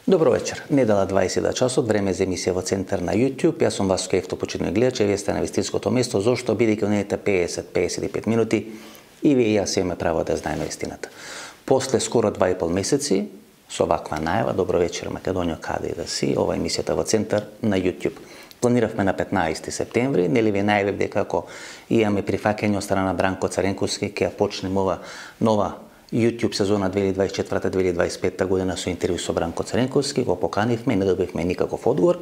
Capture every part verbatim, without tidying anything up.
Добро вечер. Недела дваесет часот, време за емисија во Центар на YouTube. Јас сум Васко Ефто, почитувани гледачи, вие сте на вистинското место. Зошто? Бидејќи во наредните песет до песет и пет минути и вие и јас имаме право да знаеме истината. После скоро два и пол месеци, со ваква најава, добро вечер Македонија, каде и да си, ова е емисијата во Центар на YouTube. Планиравме на петнаесети септември, нели ви најавив дека како имаме прифаќање од страна на Бранко Царенковски, ќе почнеме ова нова YouTube сезона две илјади дваесет и четврта - две илјади дваесет и петта година со интервју со Бранко Царенковски, го поканивме, не добивме никаков одговор.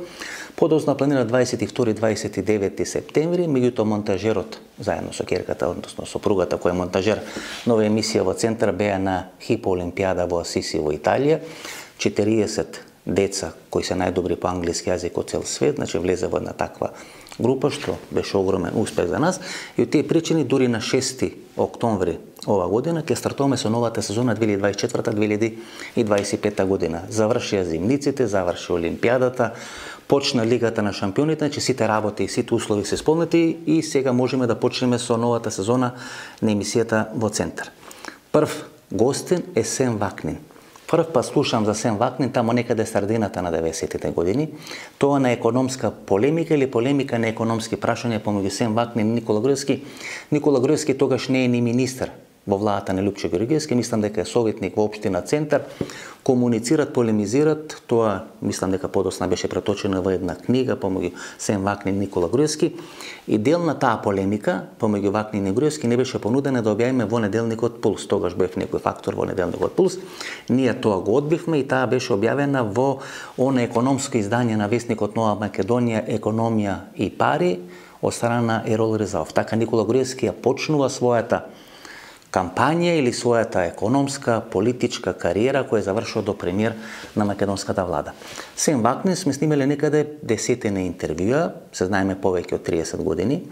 Подоцна планира дваесет и втори - дваесет и девети септември, меѓутоа монтажерот заедно со ќерката, односно сопругата која е монтажер на оваа емисија во Центар, беа на Хипо Олимпијада во Асиси во Италија. четириесет деца кои се најдобри по англиски јазик од цел свет, значи влезе во една таква група, што беше огромен успех за нас. И од тие причини, дури на шести октомври ова година, ќе стартуваме со новата сезона две илјади дваесет и четврта - две илјади дваесет и петта година. Завршија зимниците, заврши Олимпијадата, почна Лигата на шампионите, значи сите работи и сите услови се исполнети и сега можеме да почнеме со новата сезона на емисијата во Центар. Прв гостин е Сем Вакнин. Прв пат слушам за Сем Вакнин тамо некаде средината на деветдесетите години. Тоа на економска полемика или полемика на економски прашања помеѓу Сем Вакнин и Никола Груевски. Никола Груевски тогаш не е ни министер во владата на Лјупчо Георгиевски, мислам дека е советник во општина Центар. Комуницират, полемизират, тоа мислам дека подоцна беше преточено во една книга помеѓу Сем Вакнин и Никола Груевски. И дел на таа полемика помеѓу Вакнин и Груевски не беше понудена да објавиме во неделникот Пулс. Тогаш бев некој фактор во неделникот Пулс. Ние тоа го одбивме и таа беше објавена во она економско издание на весникот Нова Македонија, Економија и пари од страна на Ерол Ризалов. Така Никола Груевски ја почнува својата кампања или својата економска, политичка кариера која завршува до премиер на македонската влада. Сем Вакнин сме снимале некаде десетина интервјуа, се знаеме повеќе од триесет години.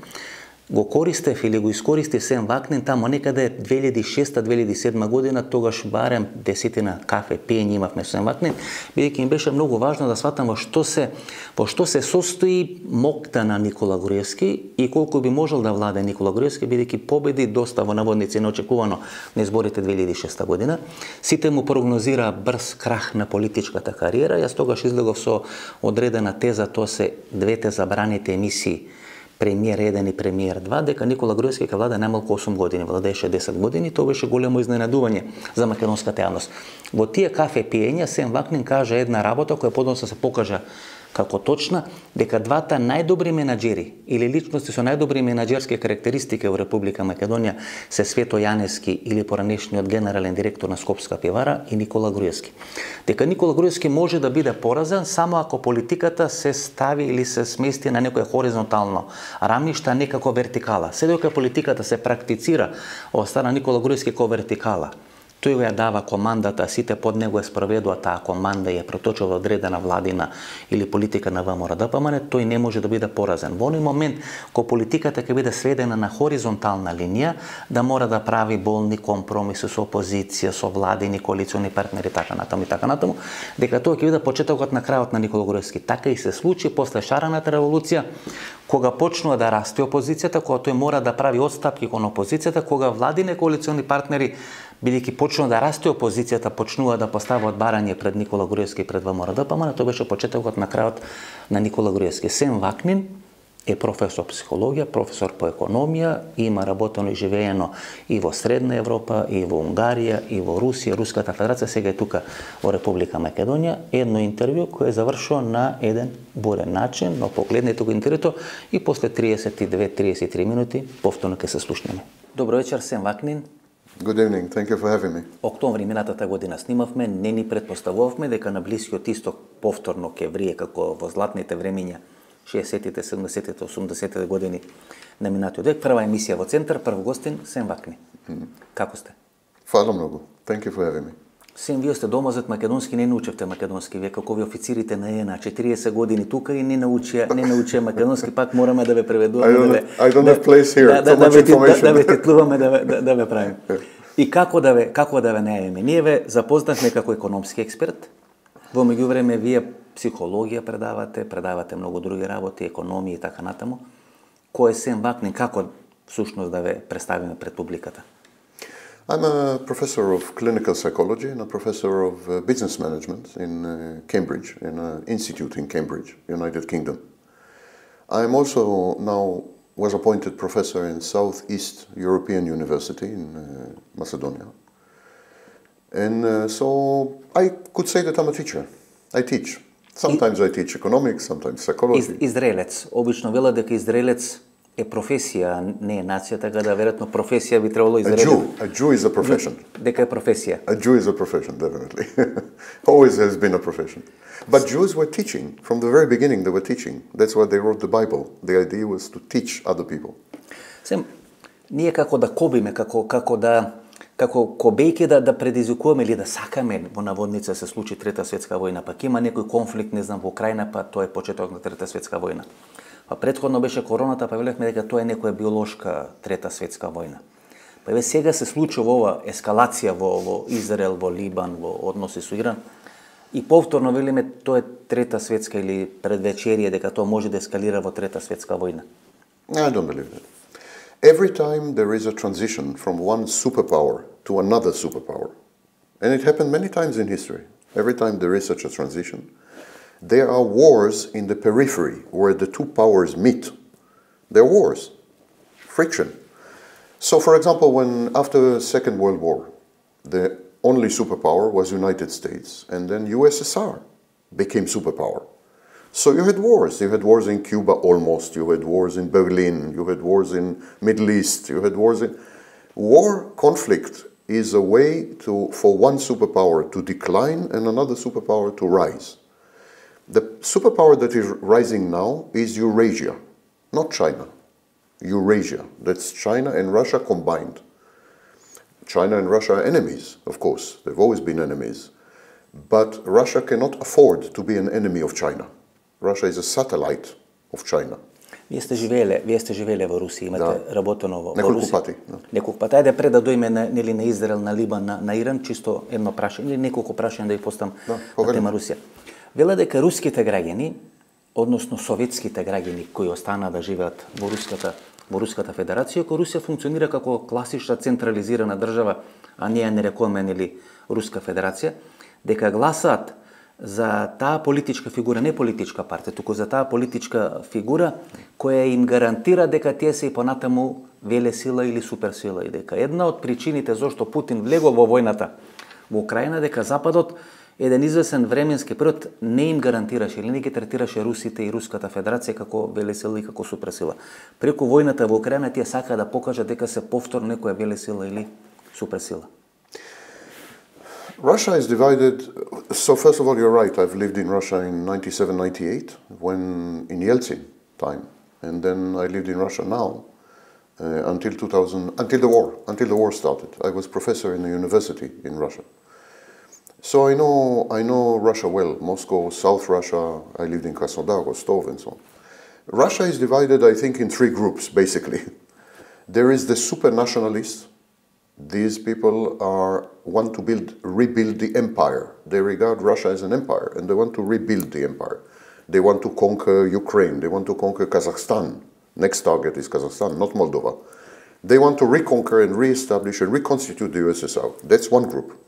Го користев или го искористив Сем Вакнин тамо некаде две илјади и шеста - две илјади и седма година, тогаш барем десетина кафе пиење имавме со Сем Вакнин, бидејќи им беше многу важно да сватам во што се во што се состои мокта на Никола Груевски и колку би можел да владе Никола Груевски, бидејќи победи доста во наводници неочекувано на изборите две илјади и шеста година. Сите му прогнозира брз крах на политичката кариера. Јас тогаш излегов со одредена теза, тоа се двете забраните емисии Премиер еден и Премиер два, дека Никола Груевски ќе владе најмалку осум години, владееше десет години, тоа беше големо изненадување за македонската јавност. Во тие кафе пиења Сем Вакнин кажа една работа која подоцна се покажа како точна, дека двата најдобри менаџери или личности со најдобри менаџерски карактеристики во Република Македонија се Свето Јаневски или поранешниот генерален директор на Скопска пивара и Никола Груевски. Дека Никола Груевски може да биде поразен само ако политиката се стави или се смести на некој хоризонтално рамниште, а не како вертикала. Се додека политиката се практицира од страна Никола Груевски како вертикала, тој ја дава командата, сите под него ја спроведува таа команда и ја проточува одредена владина или политика на ВМРО-ДПМН, тој не може да биде поразен. Во оној момент, кога политиката ќе биде сведена на хоризонтална линија, да мора да прави болни компромиси со опозиција, со владини, коалициони партнери, така натаму и така натаму, дека тоа ќе биде почетокот на крајот на Никола Груевски. Така и се случи после шарената револуција, кога почнува да расте опозицијата, кога тој мора да прави отстапки кон опозицијата, кога владине коалициони партнери, бидејќи почнува да расте опозицијата, почнува да поставаат барање пред Никола Груевски и пред ВМРО-ДПМН, тоа беше почетокот на крајот на Никола Груевски. Сем Вакнин е професор психологија, професор по економија, има работено и живеено и во Средна Европа, и во Унгарија, и во Русија, Руската Федерација, сега е тука во Република Македонија. Едно интервју кое завршува на еден бурен начин, но погледнете го интервјуто и после триесет и две - триесет и три минути повторно ќе се слушнеме. Добро вечер, Сем Вакнин. Good evening. Thank you for having me. Октомври минатата година снимавме, не ни претпоставувавме дека на Блискиот Исток повторно ќе врие како во златните времиња шеесеттите, седумдесеттите, осумдесеттите години на минатиот век. Прва емисија во Центар, прв гостин Сем Вакнин. Mm. Како сте? Фала многу. Thank you for having me. Сем, вие сте домазет македонски, не научевте македонски, вие како ви официрите на ЕНА, четириесет години тука и не научија, не научија македонски, пак мораме да ве преведуваме. I don't, да ве, I don't да, have place here. Да, Too да, much да, information. Да, да ве титлуваме, да ве, да, да ве правиме. И како да ве, како да ве најавиме? Ние ве запознавме како економски експерт. Во меѓувреме вие психологија предавате, предавате многу други работи, економија и така натаму. Кој е Сем Вакнин, како всушност да ве представиме пред публиката? I'm a professor of clinical psychology and a professor of uh, business management in uh, Cambridge, in an institute in Cambridge, United Kingdom. I'm also now was appointed professor in Southeast European University in uh, Macedonia. And uh, so I could say that I'm a teacher. I teach. Sometimes I teach economics, sometimes psychology. Израелец. Обично вела дека израелец е професија, не е нација, така да веројатно професија би требало израелец. A Jew, a Jew is a profession. Дека е професија. A Jew is a profession, definitely. Always has been a profession. But Jews were teaching. From the very beginning they were teaching. That's why they wrote the Bible. The idea was to teach other people. Сем, ние како да кобиме, како, како да како кобејки да, да предизвикуваме или да сакаме во наводница се случи Трета светска војна, пак има некој конфликт, не знам, во Украина, па тоа е почеток на Трета светска војна. Па предходно беше короната, па велевме дека тоа е некоја биолошка Трета светска војна. Па еве сега се случува ова ескалација во, во Израел, во Либан, во односи со Иран. И повторно велиме тоа е Трета светска или предвечерие дека тоа може да ескалира во Трета светска војна. I don't believe that. Every time there is a transition from one superpower to another superpower, and it happened many times in history, every time there is such a transition, there are wars in the periphery where the two powers meet. There are wars, friction. So, for example, when after the Second World War, the only superpower was United States, and then U S S R became superpower. So you had wars. You had wars in Cuba almost. You had wars in Berlin. You had wars in Middle East. You had wars in... War, conflict, is a way to for one superpower to decline and another superpower to rise. The superpower that is rising now is Eurasia, not China. Eurasia. That's China and Russia combined. China and Russia are enemies, of course. They've always been enemies. But Russia cannot afford to be an enemy of China. Russia is a satellite of China. Вие сте живееле, вие сте живееле во Русија, имате да. работено во, во Неколку Русија. пати. Да. Неколку пати. Ајде пред да дојме на, нели, на Израел, на Либан, на, на Иран, чисто едно прашање или неколку прашања да ја постам да, на тема Русија. Вела дека руските граѓани, односно советските граѓани кои останаа да живеат во Руската во Руската Федерација, кој Русија функционира како класична централизирана држава, а ние не рекуваме нели Руска Федерација, дека гласаат за таа политичка фигура, не политичка партија, туку за таа политичка фигура која им гарантира дека тие се и понатаму велесила или суперсила и дека една од причините зошто Путин влегол во војната во Украина дека Западот еден извесен временски период не им гарантираше или не ги третираше русите и Руската Федерација како велесила и како суперсила. Преку војната во Украина тие сакаа да покажат дека се повторно некоја велесила или суперсила. Russia is divided. So first of all, you're right. I've lived in Russia in ninety-seven, ninety-eight, when in Yeltsin time, and then I lived in Russia now uh, until two thousand, until the war, until the war started. I was professor in a university in Russia, so I know I know Russia well. Moscow, South Russia. I lived in Krasnodar, Rostov, and so on. Russia is divided, I think, in three groups basically. There is the super nationalists. These people are want to build, rebuild the empire. They regard Russia as an empire, and they want to rebuild the empire. They want to conquer Ukraine. They want to conquer Kazakhstan. Next target is Kazakhstan, not Moldova. They want to reconquer and re-establish and reconstitute the U S S R. That's one group.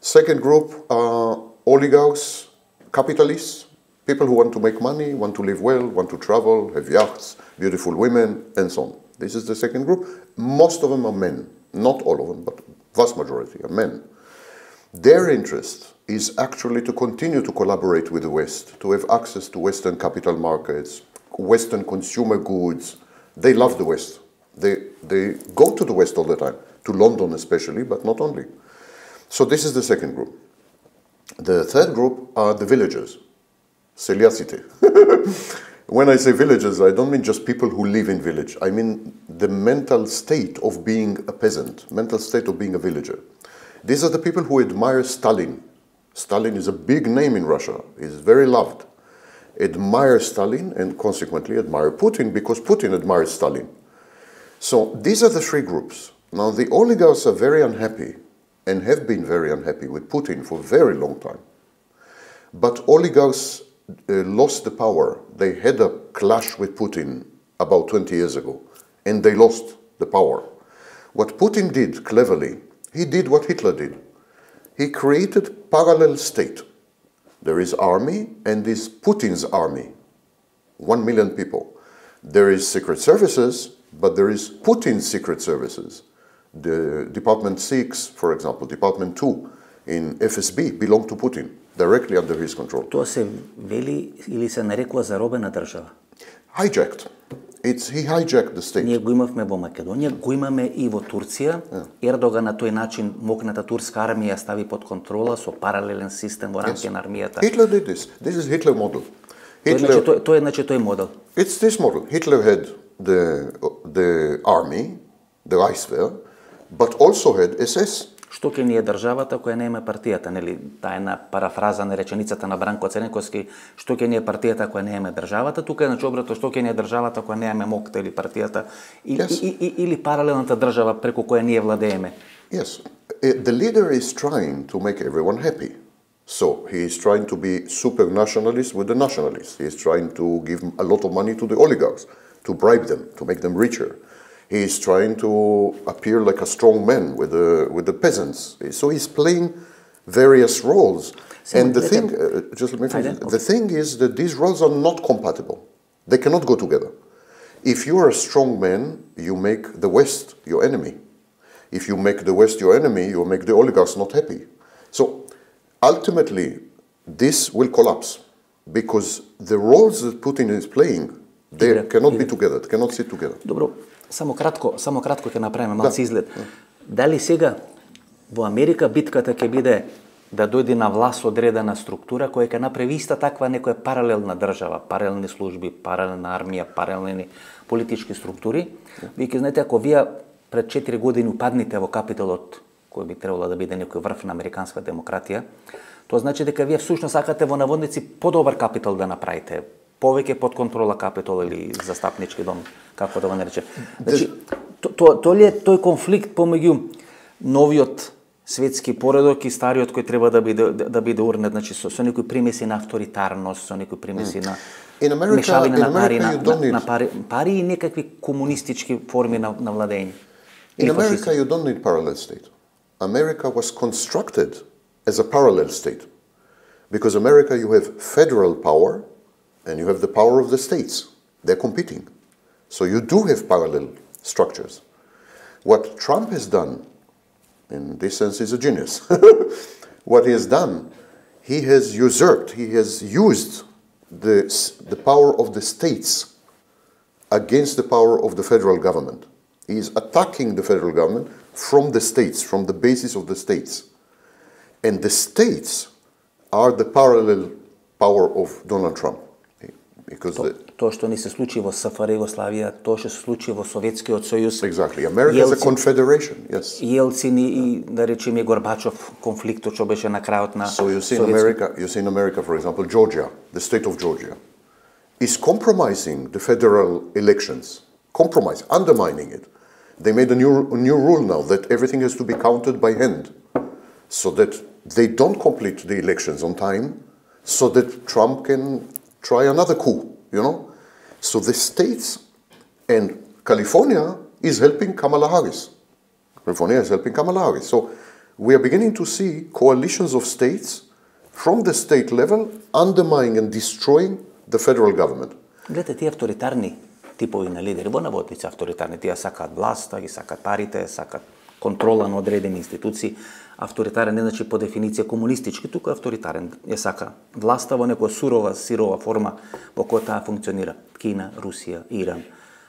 Second group are oligarchs, capitalists, people who want to make money, want to live well, want to travel, have yachts, beautiful women, and so on. This is the second group. Most of them are men. Not all of them, but vast majority are men. Their interest is actually to continue to collaborate with the West, to have access to Western capital markets, Western consumer goods. They love the West. They, they go to the West all the time, to London especially, but not only. So this is the second group. The third group are the villagers, Seliacite. When I say villagers, I don't mean just people who live in village. I mean the mental state of being a peasant, mental state of being a villager. These are the people who admire Stalin. Stalin is a big name in Russia. He's very loved. Admire Stalin and consequently admire Putin because Putin admires Stalin. So these are the three groups. Now the oligarchs are very unhappy and have been very unhappy with Putin for a very long time. But oligarchs Uh, lost the power. They had a clash with Putin about twenty years ago, and they lost the power. What Putin did cleverly He did what Hitler did. He created parallel state. There is army and is Putin's army. One million people. There is secret services, but there is Putin's secret services. The Department six, for example, Department two in F S B belong to Putin, directly under his control. Тоа се вели или се нарекува заробена држава? Hijacked. It's, he hijacked the state. Ние го имавме во Македонија, го имаме и во Турција. Yeah. Ердоган на тој начин мокната турска армија стави под контрола со паралелен систем во рамки yes. на армијата. Hitler did this. This is Hitler model. Hitler, тој, значи, тој е значи тој модел. It's this model. Hitler had the the army, the Reichswehr, but also had S S. Што ќе ни е државата која нема партијата, нели? Таа е една парафраза на реченицата на Бранко Црнковски, што ќе ни е партијата која нема државата, тука е значи обрато што ќе ни е државата која нема мокта или партијата или, yes. и, и, или паралелната држава преку која ние владееме. Yes. The leader is trying to make everyone happy. So he is trying to be super nationalist with the nationalists. He is trying to give a lot of money to the oligarchs, to bribe them, to make them richer. He is trying to appear like a strong man with the with the peasants. So he's playing various roles. So and the thing, uh, just let me finish. The thing is that these roles are not compatible. They cannot go together. If you are a strong man, you make the West your enemy. If you make the West your enemy, you make the oligarchs not happy. So ultimately, this will collapse because the roles that Putin is playing, they Игра. cannot Игра. be together, they cannot sit together. Добро, само кратко, само кратко ќе направиме малци изглед. Да. Дали сега во Америка битката ќе биде да дојде на власт одредена структура која ќе направи иста таква некоја паралелна држава, паралелни служби, паралелна армија, паралелни политички структури? Вие ќе знаете, ако вие пред четири години упадните во Капитолот, кој би требало да биде некој врв на американска демократија, тоа значи дека вие всушност сакате во наводници подобар Капитол да направите, повеќе под контрола Капитол или застапнички дом, како да го нарече. Значи, тоа то, ли е тој конфликт помеѓу новиот светски поредок и стариот кој треба да биде да, да биде урнет, значи со, со некои примеси на авторитарност, со некои примеси на мешавина на пари, на, на, на пари, пари и некакви комунистички форми на, на владење. In America you don't need parallel state. America was constructed as a parallel state. Because America you have federal power and you have the power of the states. They're competing. So you do have parallel structures. What Trump has done, in this sense, is a genius. What he has done, he has usurped, he has used the, the power of the states against the power of the federal government. He is attacking the federal government from the states, from the basis of the states. And the states are the parallel power of Donald Trump. Because То, тоа што ни се случи во СФР Југославија, тоа што се случи во Советскиот сојуз. Exactly. America Елцин, is a confederation, yes. Елцин и, да речеме, Горбачов, конфликтот што беше на крајот на So you see in America, you see in America, for example, Georgia, the state of Georgia, is compromising the federal elections, compromise, undermining it. They made a new, a new rule now that everything has to be counted by hand, so that they don't complete the elections on time, so that Trump can try another coup, you know? So the states and California is helping Kamala Harris. California is helping Kamala Harris. So we are beginning to see coalitions of states from the state level undermining and destroying the federal government. Гледате, тие авторитарни типови на лидери, во наводници авторитарни, тие сакаат власта, ги сакаат парите, сакаат контрола на одредени институции. Авторитарен не значи по дефиниција комунистички, туку авторитарен е сака власта во некоја сурова, сирова форма во која таа функционира. Кина, Русија, Иран,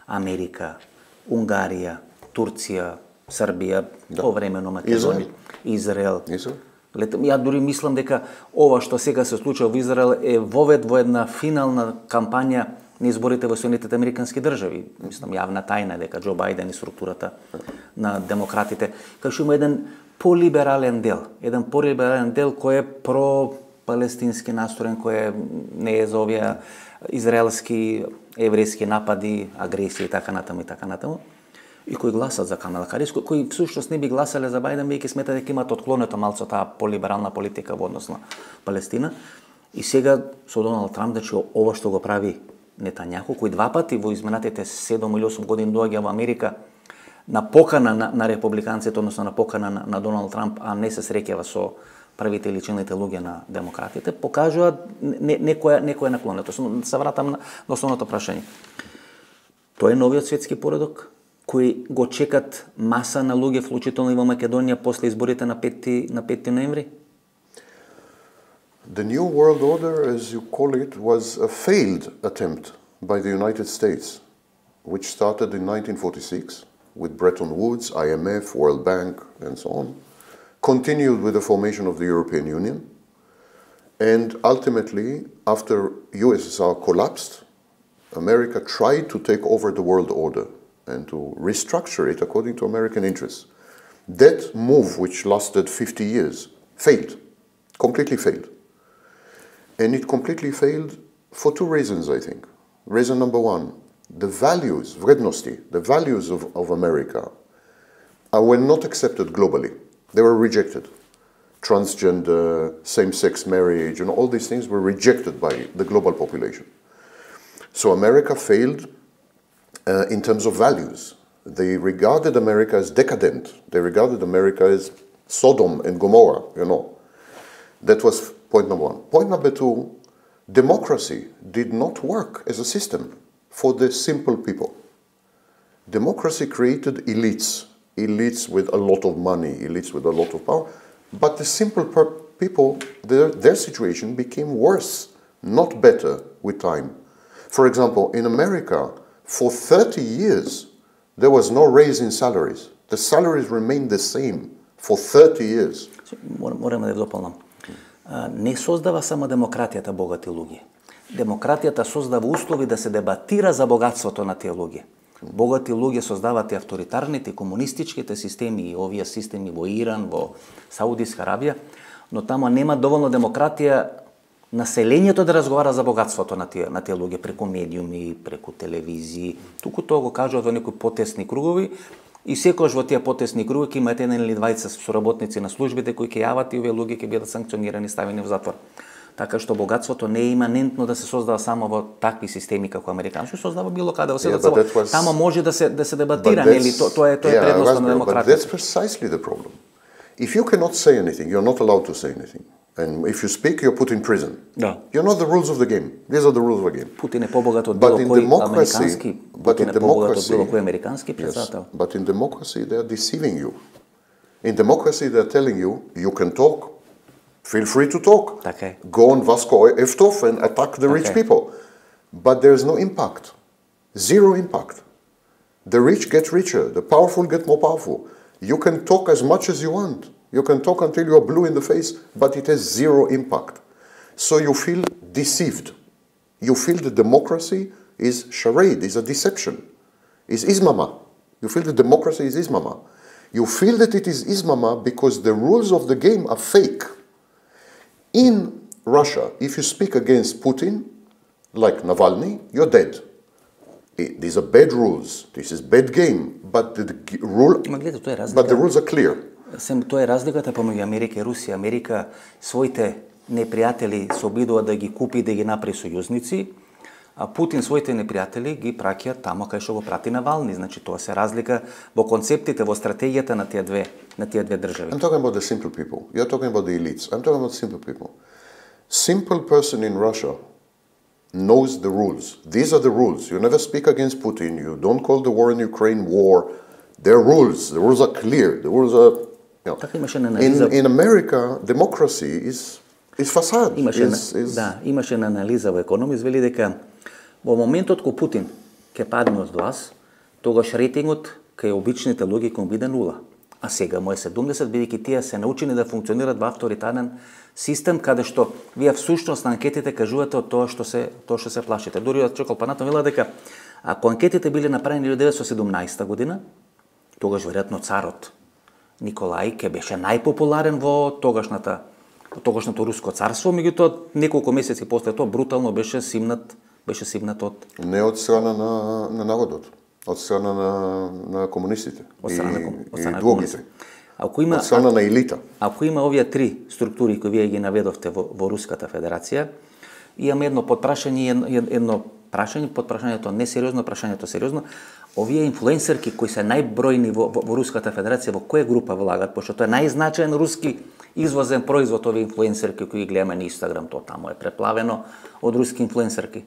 Америка, Унгарија, Турција, Србија, да. Повремено Македонија, Израел. Израел. Ја дури мислам дека ова што сега се случува во Израел е вовед во една финална кампања на изборите во Соединетите Американски држави. Мислам, јавна тајна дека Џо Бајден и структурата на демократите, кај што има еден полиберален дел, еден полиберален дел кој е про-палестински настроен, кој е, не е за овие израелски, еврејски напади, агресија и така натаму и така натаму, и кои гласат за Камала Харис, кои, кои всушност не би гласале за Бајден, бидејќи сметат дека имаат отклонето малку таа полиберална политика во однос на Палестина. И сега со Доналд Трамп, значи ова што го прави Нетањаху, кој два пати во изминатите седум или осум години доаѓа во Америка на покана на, на републиканците, односно на покана на, на Доналд Трамп, а не се среќава со првите или челните луѓе на демократите, покажуваат не, некоја некоја наклонетост. Се вратам на, на основното прашање. Тоа е новиот светски поредок кој го чекат маса на луѓе, вклучително и во Македонија после изборите на пети на пети ноември? The New World Order, as you call it, was a failed attempt by the United States, which started in nineteen forty-six with Bretton Woods, I M F, World Bank, and so on, continued with the formation of the European Union, and ultimately, after U S S R collapsed, America tried to take over the world order and to restructure it according to American interests. That move, which lasted fifty years, failed, completely failed. And it completely failed for two reasons, I think. Reason number one, the values, vrednosti, the values of, of America uh, were not accepted globally. They were rejected. Transgender, same-sex marriage, and all these things were rejected by the global population. So America failed uh, in terms of values. They regarded America as decadent. They regarded America as Sodom and Gomorrah, you know. That was point number one. Point number two, democracy did not work as a system for the simple people. Democracy created elites, elites with a lot of money, elites with a lot of power, but the simple per- people, their, their situation became worse, not better with time. For example, in America, for thirty years, there was no raise in salaries. The salaries remained the same for thirty years. Морам да дополнам. Не создава само демократијата богати луѓе. Демократијата создава услови да се дебатира за богатството на тие луѓе. Богати луѓе создаваат и авторитарните, комунистичките системи, и овие системи во Иран, во Саудиска Арабија, но таму нема доволно демократија населението да разговара за богатството на тие на тие луѓе преку медиуми, преку телевизии. Туку тоа го кажуваат во некои потесни кругови. И секојаш во тие потесни круги ќе имате еден или двајца соработници на службите кои ќе јават и овие луѓе ќе бидат санкционирани, ставени во затвор. Така што богатството не е иманентно да се создава само во такви системи како американски, создава било каде во светот. Yeah, was... Тамо може да се да се дебатира, нели? Тоа тоа е тоа е yeah, предноста на демократија. But that's precisely the problem. If you cannot say anything, you're not allowed to say anything. And if you speak, you're put in prison. Да. You're not the rules of the game. These are the rules of the game. Путин е побогат од било кој американски, Путин е побогат од било кој американски председател. Yes, but in democracy they are deceiving you. In democracy they are telling you you can talk, feel free to talk. Okay. Go on Vasco Eftov and attack the rich okay. people. But there is no impact. Zero impact. The rich get richer, the powerful get more powerful. You can talk as much as you want. You can talk until you are blue in the face, but it has zero impact. So you feel deceived. You feel that democracy is charade, is a deception, is ismama. You feel that democracy is ismama. You feel that it is ismama because the rules of the game are fake. In Russia, if you speak against Putin, like Navalny, you're dead. These are bad rules. This is bad game. But the, the rule, but the rules are clear. Сем тоа е разликата помеѓу Америка и Русија. Америка своите непријатели се обидува да ги купи, да ги направи сојузници, а Путин своите непријатели ги праќа тамо кај што го прати Навални. Значи тоа се разлика во концептите, во стратегијата на тие две на тие две држави. I'm talking about the simple people. You're talking about the elites. I'm talking about simple people. Simple person in Russia knows the rules. These are the rules. You never speak against Putin. You don't call the war in Ukraine war. There are rules. The rules are clear. The rules are You know, in, in America, democracy is, is facade. Имаше, is, is... Да, имаше на анализа во Економис, вели дека во моментот кога Путин ќе падне од власт, тогаш рейтингот кај обичните луѓе ќе биде нула. А сега му е седумдесет, бидејќи тие се научени да функционираат во авторитарен систем, каде што вие всушност на анкетите кажувате од тоа што се тоа што се плашите. Дури од Чокол Панатон вела дека ако анкетите биле направени во деветстотини и седумнаесета година, тогаш веројатно царот Николај ке беше најпопуларен во тогашната во тогашното руско царство, меѓутоа неколку месеци после тоа брутално беше симнат, беше симнат од не од страна на на народот, од страна на на комунистите од страна, и, од страна и другите. Ако има од страна на елита. Ако има овие три структури кои вие ги наведовте во, во Руската Федерација, имам едно подпрашање и едно, едно прашање под прашањето несериозно, прашањето сериозно. Овие инфлуенсерки кои се најбројни во, во, во Руската Федерација, во која група влагат, пошто тоа е најзначаен руски извозен производ, овие инфлуенсерки кои гледаме на Инстаграм, тоа таму е преплавено од руски инфлуенсерки.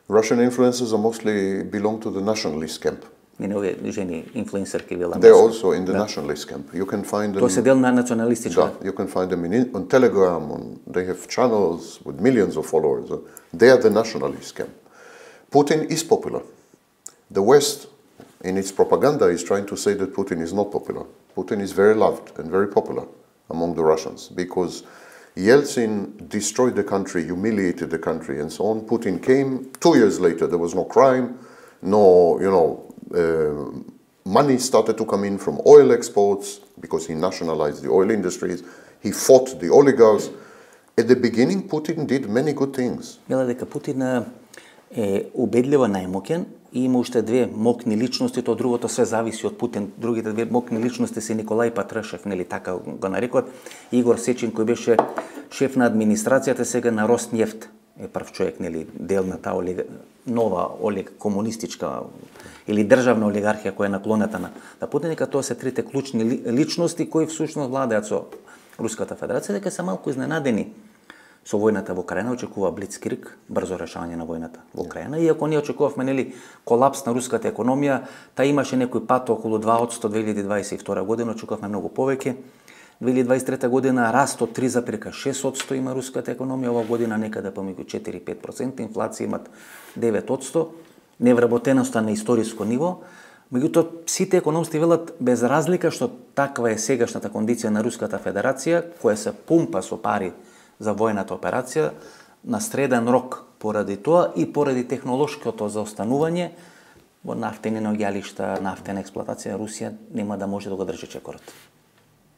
Russian influencers are mostly belong to the nationalist camp. Не, не, овие жени инфлуенсерки вела. They're also in the да. nationalist camp. You can find them. Тоа се дел на националистичка. Да, you can find them in, on Telegram. On, they have channels with millions of followers. They are the nationalist camp. Putin is popular. The West, in its propaganda, is trying to say that Putin is not popular. Putin is very loved and very popular among the Russians because Yeltsin destroyed the country, humiliated the country, and so on. Putin came. Two years later, there was no crime, no, you know, uh, money started to come in from oil exports because he nationalized the oil industries. He fought the oligarchs. At the beginning, Putin did many good things. Мела дека Путин е убедливо најмоќен и има уште две мокни личности, тоа другото све зависи од Путин. Другите две мокни личности се Николај Патрушев, нели така го нарекот, Игор Сечин кој беше шеф на администрацијата сега на Роснефт. Е прв човек, нели, дел на таа олига, нова олиг комунистичка или државна олигархија која е наклонета на, на Путин, дека тоа се трите клучни личности кои всушност владеат со Руската Федерација, дека се малку изненадени со војната во Украина, очекува блицкриг, брзо решавање на војната во Украина. Иако ние очекувавме, нели, колапс на руската економија, таа имаше некој пат околу два одсто две илјади дваесет и втора година, очекувавме многу повеќе. две илјади дваесет и трета година раст од три запирка шест одсто има руската економија, ова година некаде помеѓу четири до пет проценти, инфлација имат девет одсто, невработеноста на историско ниво. Меѓутоа, сите економисти велат без разлика што таква е сегашната кондиција на Руската Федерација, која се пумпа со пари за војната операција, на среден рок поради тоа и поради технолошкото заостанување во нафтени наоѓалишта, нафтена експлоатација, Русија нема да може да го држи чекорот.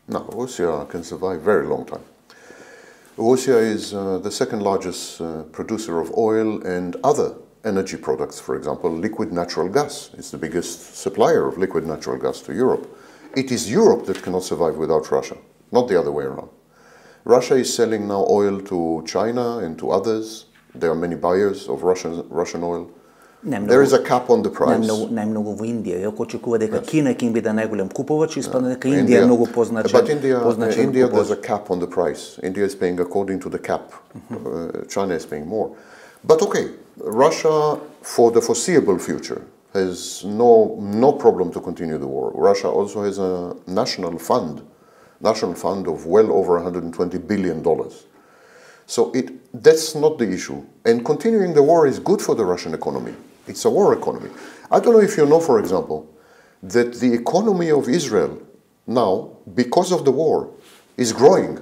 No, Russia can survive very long time. Russia is uh, the second largest uh, producer of oil and other energy products. For example, liquid natural gas is the biggest supplier of liquid natural gas to Europe. It is Europe that cannot survive without Russia, not the other way around. Russia is selling now oil to China and to others. There are many buyers of Russian, Russian oil. There is a cap on the price. Најмногу во Индија. Јако очекува дека Кина ќе им биде најголем купувач, испадна дека Индија е многу позначен. But India, India there's a cap on the price. India is paying according to the cap. Uh, China is paying more. But okay, Russia for the foreseeable future has no no problem to continue the war. Russia also has a national fund, national fund of well over one hundred twenty billion dollars. So it that's not the issue. And continuing the war is good for the Russian economy. It's a war economy. I don't know if you know, for example, that the economy of Israel now, because of the war, is growing.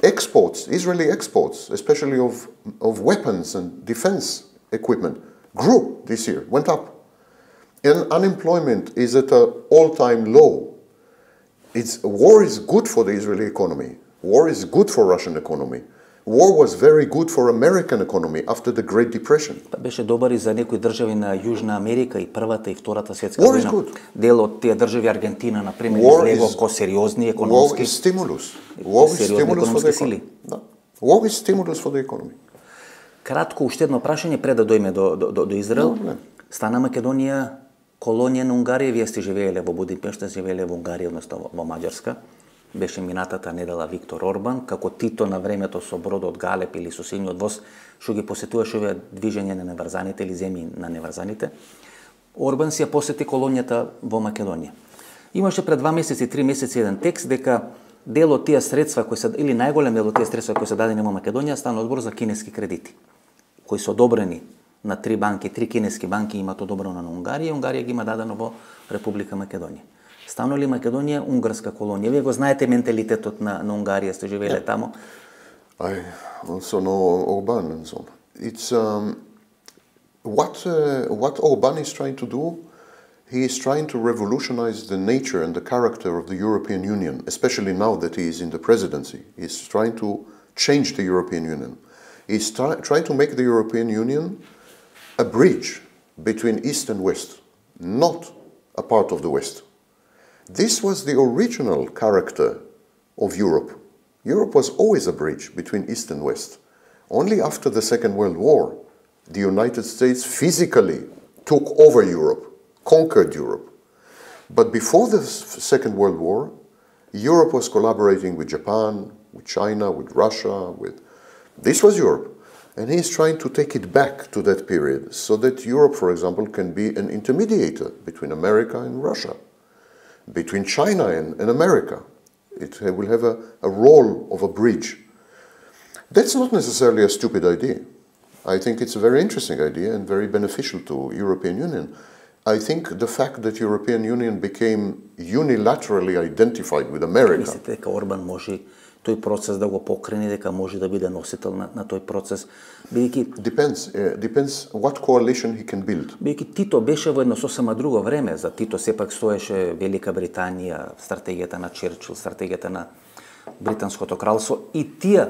Exports, Israeli exports, especially of, of weapons and defense equipment, grew this year, went up. And unemployment is at an all-time low. It's, war is good for the Israeli economy. War is good for Russian economy. War was very good for American economy after the Great Depression. Беше добар и за некои држави на Јужна Америка и Првата и Втората светска војна. Дел од тие држави, Аргентина, на пример, излегува ко сериозни економски. War is stimulus. War is stimulus for the economy. Да. War is stimulus for the economy. Кратко уште едно прашање пред да дојме до до до, до Израел. No, Стана Македонија колонија на Унгарија, вие сте живееле во Будимпешта, живееле во Унгарија, односно во Маđarска. Беше минатата недела Виктор Орбан, како Тито на времето со бродот Галеп или со синиот воз, што ги посетуваше овие движење на неврзаните или земји на неврзаните. Орбан си ја посети колонијата во Македонија. Имаше пред два месеци, три месеци еден текст дека дел од тие средства кои се или најголем дел од тие средства кои се дадени во Македонија стана одбор за кинески кредити, кои се одобрени на три банки, три кинески банки имаат одобрено на Унгарија, и Унгарија ги има дадено во Република Македонија. Станува ли Македонија унгарска колонија? Вие го знаете менталитетот на, на Унгарија, сте живееле yeah. таму. I also know Orban and so on. It's um, what uh, what Orban is trying to do. He is trying to revolutionize the nature and the character of the European Union, especially now that he is in the presidency. He's trying to change the European Union. He's trying to make the European Union a bridge between East and West, not a part of the West. This was the original character of Europe. Europe was always a bridge between East and West. Only after the Second World War, the United States physically took over Europe, conquered Europe. But before the Second World War, Europe was collaborating with Japan, with China, with Russia, with... This was Europe. And he's trying to take it back to that period so that Europe, for example, can be an intermediator between America and Russia, between China and, and America. It will have a, a role of a bridge. That's not necessarily a stupid idea. I think it's a very interesting idea and very beneficial to European Union. I think the fact that European Union became unilaterally identified with America... Мислите дека Орбан може тој процес да го покрени, дека може да биде носител на, на тој процес, бидејќи... Depends, uh, depends what coalition he can build. Бидејќи Тито беше во едно сосема друго време. За Тито сепак стоеше Велика Британија, стратегијата на Черчил, стратегијата на Британското кралство и тие.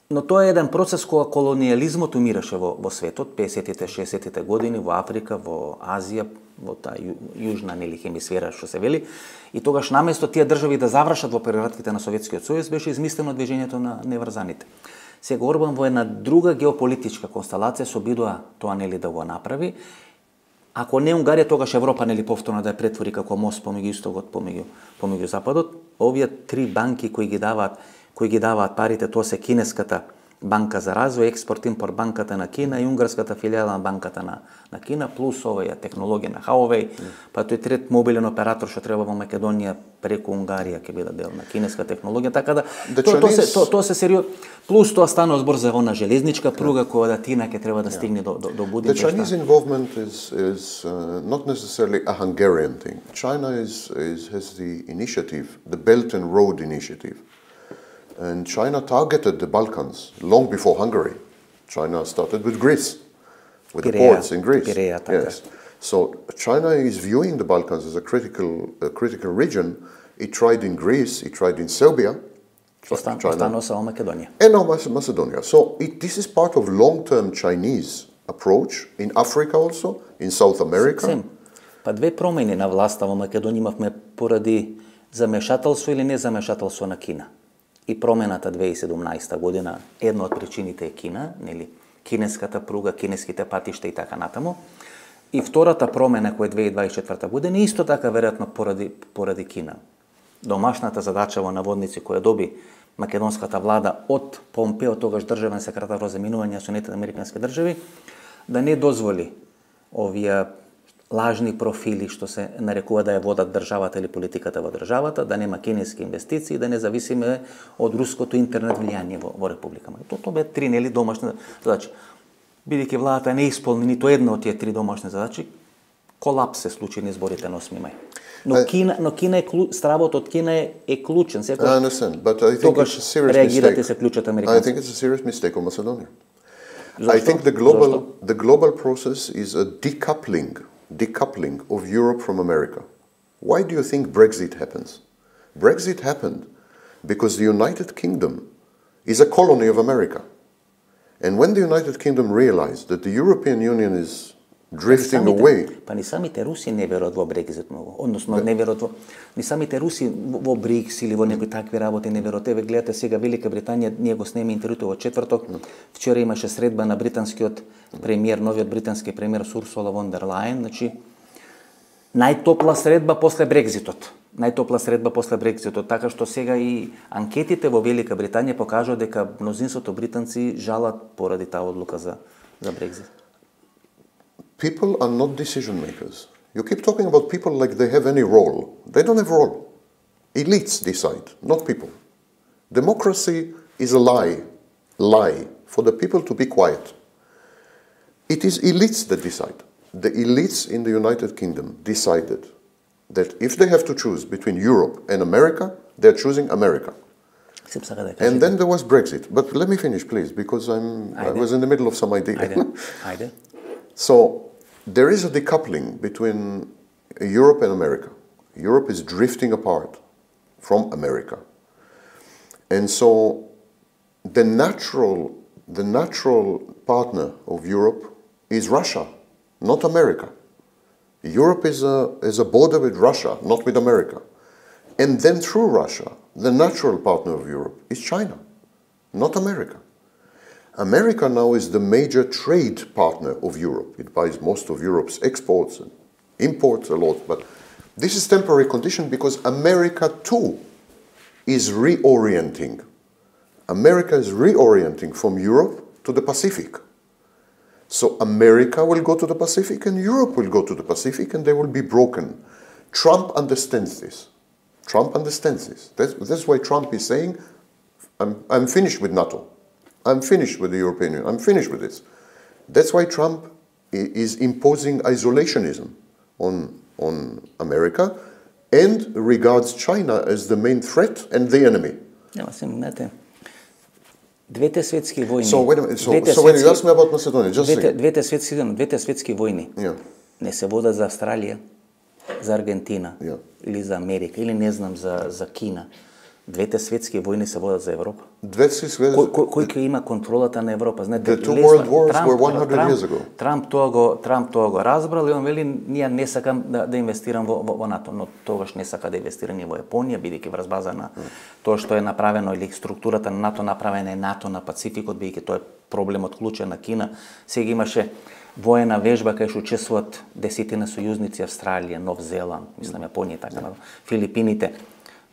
Но тоа е еден процес кога колониализмот умираше во, во светот, песетите, шесетите години, во Африка, во Азија, во таа ю, јужна нели хемисфера, што се вели. И тогаш наместо тие држави да завршат во прератките на Советскиот сојуз, беше измислено движењето на неврзаните. Сега Орбан во една друга геополитичка констелација се обидува тоа нели да го направи. Ако не Унгарија, тогаш Европа нели повторно да ја претвори како мост помеѓу истокот, помеѓу помеѓу западот. Овие три банки кои ги даваат кои ги даваат парите, тоа се Кинеската банка за развој, експорт-импорт банката на Кина и унгарската филијала на банката на, на Кина, плюс оваа технологија на Huawei, mm. па тој трет мобилен оператор што треба во Македонија преку Унгарија ќе биде дел на кинеска технологија, така да тоа то, се тоа то се сериозно. Плюс тоа станува збор за она железничка пруга yeah. која да Тина ќе треба да стигне yeah. до до, до Будимпешта. The Chinese involvement is is uh, not necessarily a Hungarian thing. China is is has the initiative, the Belt and Road Initiative. And China targeted the Balkans long before Hungary. China started with Greece, with Pirea, the ports in Greece. Pirea, yes. So China is viewing the Balkans as a critical, a critical region. It tried in Greece, it tried in Serbia. China, China. Macedonia. And now Macedonia. So it, this is part of long-term Chinese approach in Africa also, in South America. Сем. Па две промени на власта во Македонија имавме поради замешателство или незамешателство на Кина. И промената две илјади и седумнаесета година, една од причините е Кина, нели, кинеската пруга, кинеските патишта и така натаму. И втората промена која е две илјади дваесет и четврта година, исто така веројатно поради поради Кина. Домашната задача во наводници која доби македонската влада од Помпео, тогаш државен секретар за заминување на Соединетите американски држави, да не дозволи овие лажни профили што се нарекува да ја водат државата или политиката во државата, да нема кинески инвестиции, да не зависиме од руското интернет влијание во, во Република Македонија. Тоа бе три нели домашни задачи. Бидејќи владата не исполни ниту една од тие три домашни задачи, колапс се случи на изборите на осми мај. Но Кина, но Кина е клу, стравот од Кина е, е клучен. Секој, I understand, but I think it's a serious реагирате mistake. се клучат американци. I think it's a serious mistake on Macedonia. I think the global the global process is a decoupling decoupling of Europe from America. Why do you think Brexit happens? Brexit happened because the United Kingdom is a colony of America. And when the United Kingdom realized that the European Union is drifting самите, away... Па ни самите руси не веруват во Брекзит многу. Односно, не веруват во... Ни самите руси во БРИКС или во некои такви работи не веруват. Еве, гледате сега Велика Британија, ние го снеме интервјуто во четврток. Вчера имаше средба на британскиот премиер, новиот британски премиер Урсула фон дер Лајен. Значи, најтопла средба после Брекзитот. Најтопла средба после Брекзитот. Така што сега и анкетите во Велика Британија покажуваат дека мнозинството британци жалат поради таа одлука за, за Брекзит. People are not decision makers. You keep talking about people like they have any role. They don't have role. Elites decide, not people. Democracy is a lie, lie for the people to be quiet. It is elites that decide. The elites in the United Kingdom decided that if they have to choose between Europe and America, they're choosing America. And then there was Brexit. But let me finish, please, because I'm, I was in the middle of some idea. I did. So there is a decoupling between Europe and America. Europe is drifting apart from America. And so the natural, the natural partner of Europe is Russia, not America. Europe is a, is a border with Russia, not with America. And then through Russia, the natural partner of Europe is China, not America. America now is the major trade partner of Europe. It buys most of Europe's exports and imports a lot, but this is temporary condition because America too is reorienting. America is reorienting from Europe to the Pacific. So America will go to the Pacific and Europe will go to the Pacific and they will be broken. Trump understands this. Trump understands this. That's, that's why Trump is saying, I'm, I'm finished with NATO. I'm finished with the European Union. I'm finished with this. That's why Trump is imposing isolationism on, on America and regards China as the main threat and the enemy. Няма се, знаете, двете светски войни. So, wait a minute. So, so when you ask me about Macedonia, just двете, say. двете светски, двете светски войни. Yeah. Не се водат за Австралија, за Аргентина, yeah. или за Америка, или не знам за за Кина. Двете светски војни се водат за Европа. Двете светски кој, кој, кој ќе има контролата на Европа? Знаете, The two world wars Трамп, were one hundred Трамп, years ago. Трамп тоа го Трамп тоа го разбрал и он вели ние не сакам да, да инвестирам во, во, во НАТО, но тогаш не сака да инвестира ни во Јапонија, бидејќи врз база на mm. тоа што е направено или структурата на НАТО направена е НАТО на Пацификот, бидејќи тоа е проблемот клучен на Кина. Сега имаше воена вежба кај што учествуваат десетина сојузници, Австралија, Нов Зеланд, мислам Јапонија и така, Филипините.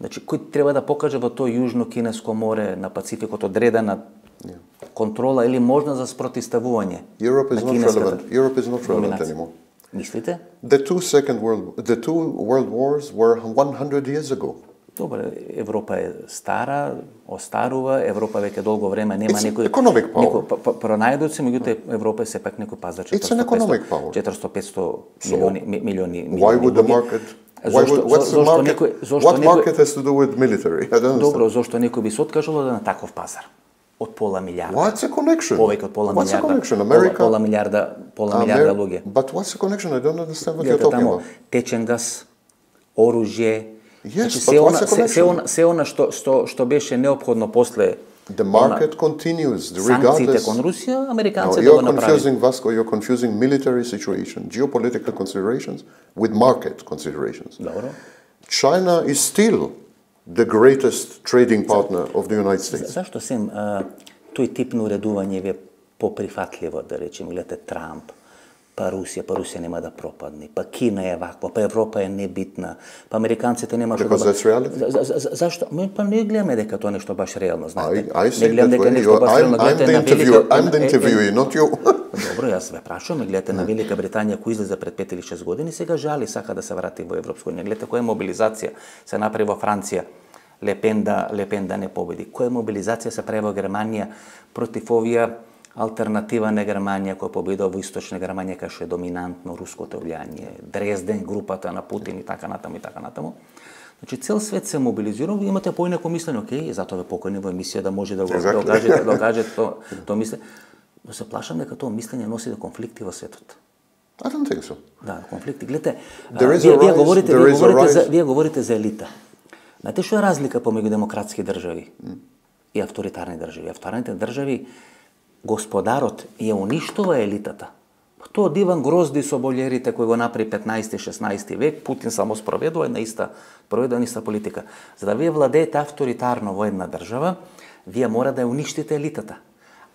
Значи, кој треба да покаже во тоа Јужно Кинеско море на Пацификот одредена yeah. контрола или можна за спротивставување? Europe is not relevant. Europe is not relevant anymore. Мислите? The two second world the two world wars were one hundred years ago. Добре, Европа е стара, остарува, Европа веќе долго време нема It's некој economic power. некој пронајдоци, меѓутоа Европа е сепак некој пазар четиристотини петстотини милиони милиони. Why would the market Why would, what's the market, некој, what market некој, has to do with military? I don't Добро, зошто некој би се откажало да на таков пазар? Од пола милиарда. What's the connection? Повеќе од пола what's милиарда. The connection? America, пола, пола милиарда, пола милиарда луѓе. But what's the connection? I don't understand what you're talking тамо, about. Течен газ, оружје. Yes, значи, but се what's она, the се, се она, се она што што што беше неопходно после The market continues санкциите regardless. кон Русија, американците no, го направи. You're confusing Vasco, you're confusing military situation, geopolitical considerations with market considerations. Добро. China is still the greatest trading partner of the United States. Зашто сем тој тип на уредување ви е поприфатливо, да речем, гледате Трамп, па Русија, па Русија нема да пропадне, па Кина е ваква, па Европа е небитна, па американците нема што да... Because that's reality? За, за, за, зашто? Ме, па не гледаме дека тоа нешто баш реално, знаете. I, I не гледам дека нешто баш реално, гледате на Велика... I'm the interviewer, not you. Добро, јас ве прашувам, гледате на Велика Британија кој излезе пред пет или шест години, сега жали, сака да се врати во Европска унија. Гледате која мобилизација се направи во Франција, Лепен да, Лепен да не победи. Која мобилизација се прави во Германија против овие алтернатива на Германија која победува во Источна Германија кај што е доминантно руското влијание, Дрезден, групата на Путин и така натаму и така натаму. Значи цел свет се мобилизира, ви имате поинако мислење, окей, затоа ве покани во емисија да може да го exactly. докажете, докажете тоа то мислење. Но се плашам дека тоа мислење носи до конфликти во светот. I don't think so. Да, конфликти. Гледате, вие, вие говорите, вие говорите за вие говорите за елита. Знаете што е разлика помеѓу демократски држави mm. и авторитарни држави? Авторитарните држави господарот ја уништува елитата. Тоа Диван Грозди со болерите кои го направи петнаести шеснаести век, Путин само спроведува на иста, проведува на иста политика. За да вие владеете авторитарно во една држава, вие мора да ја уништите елитата.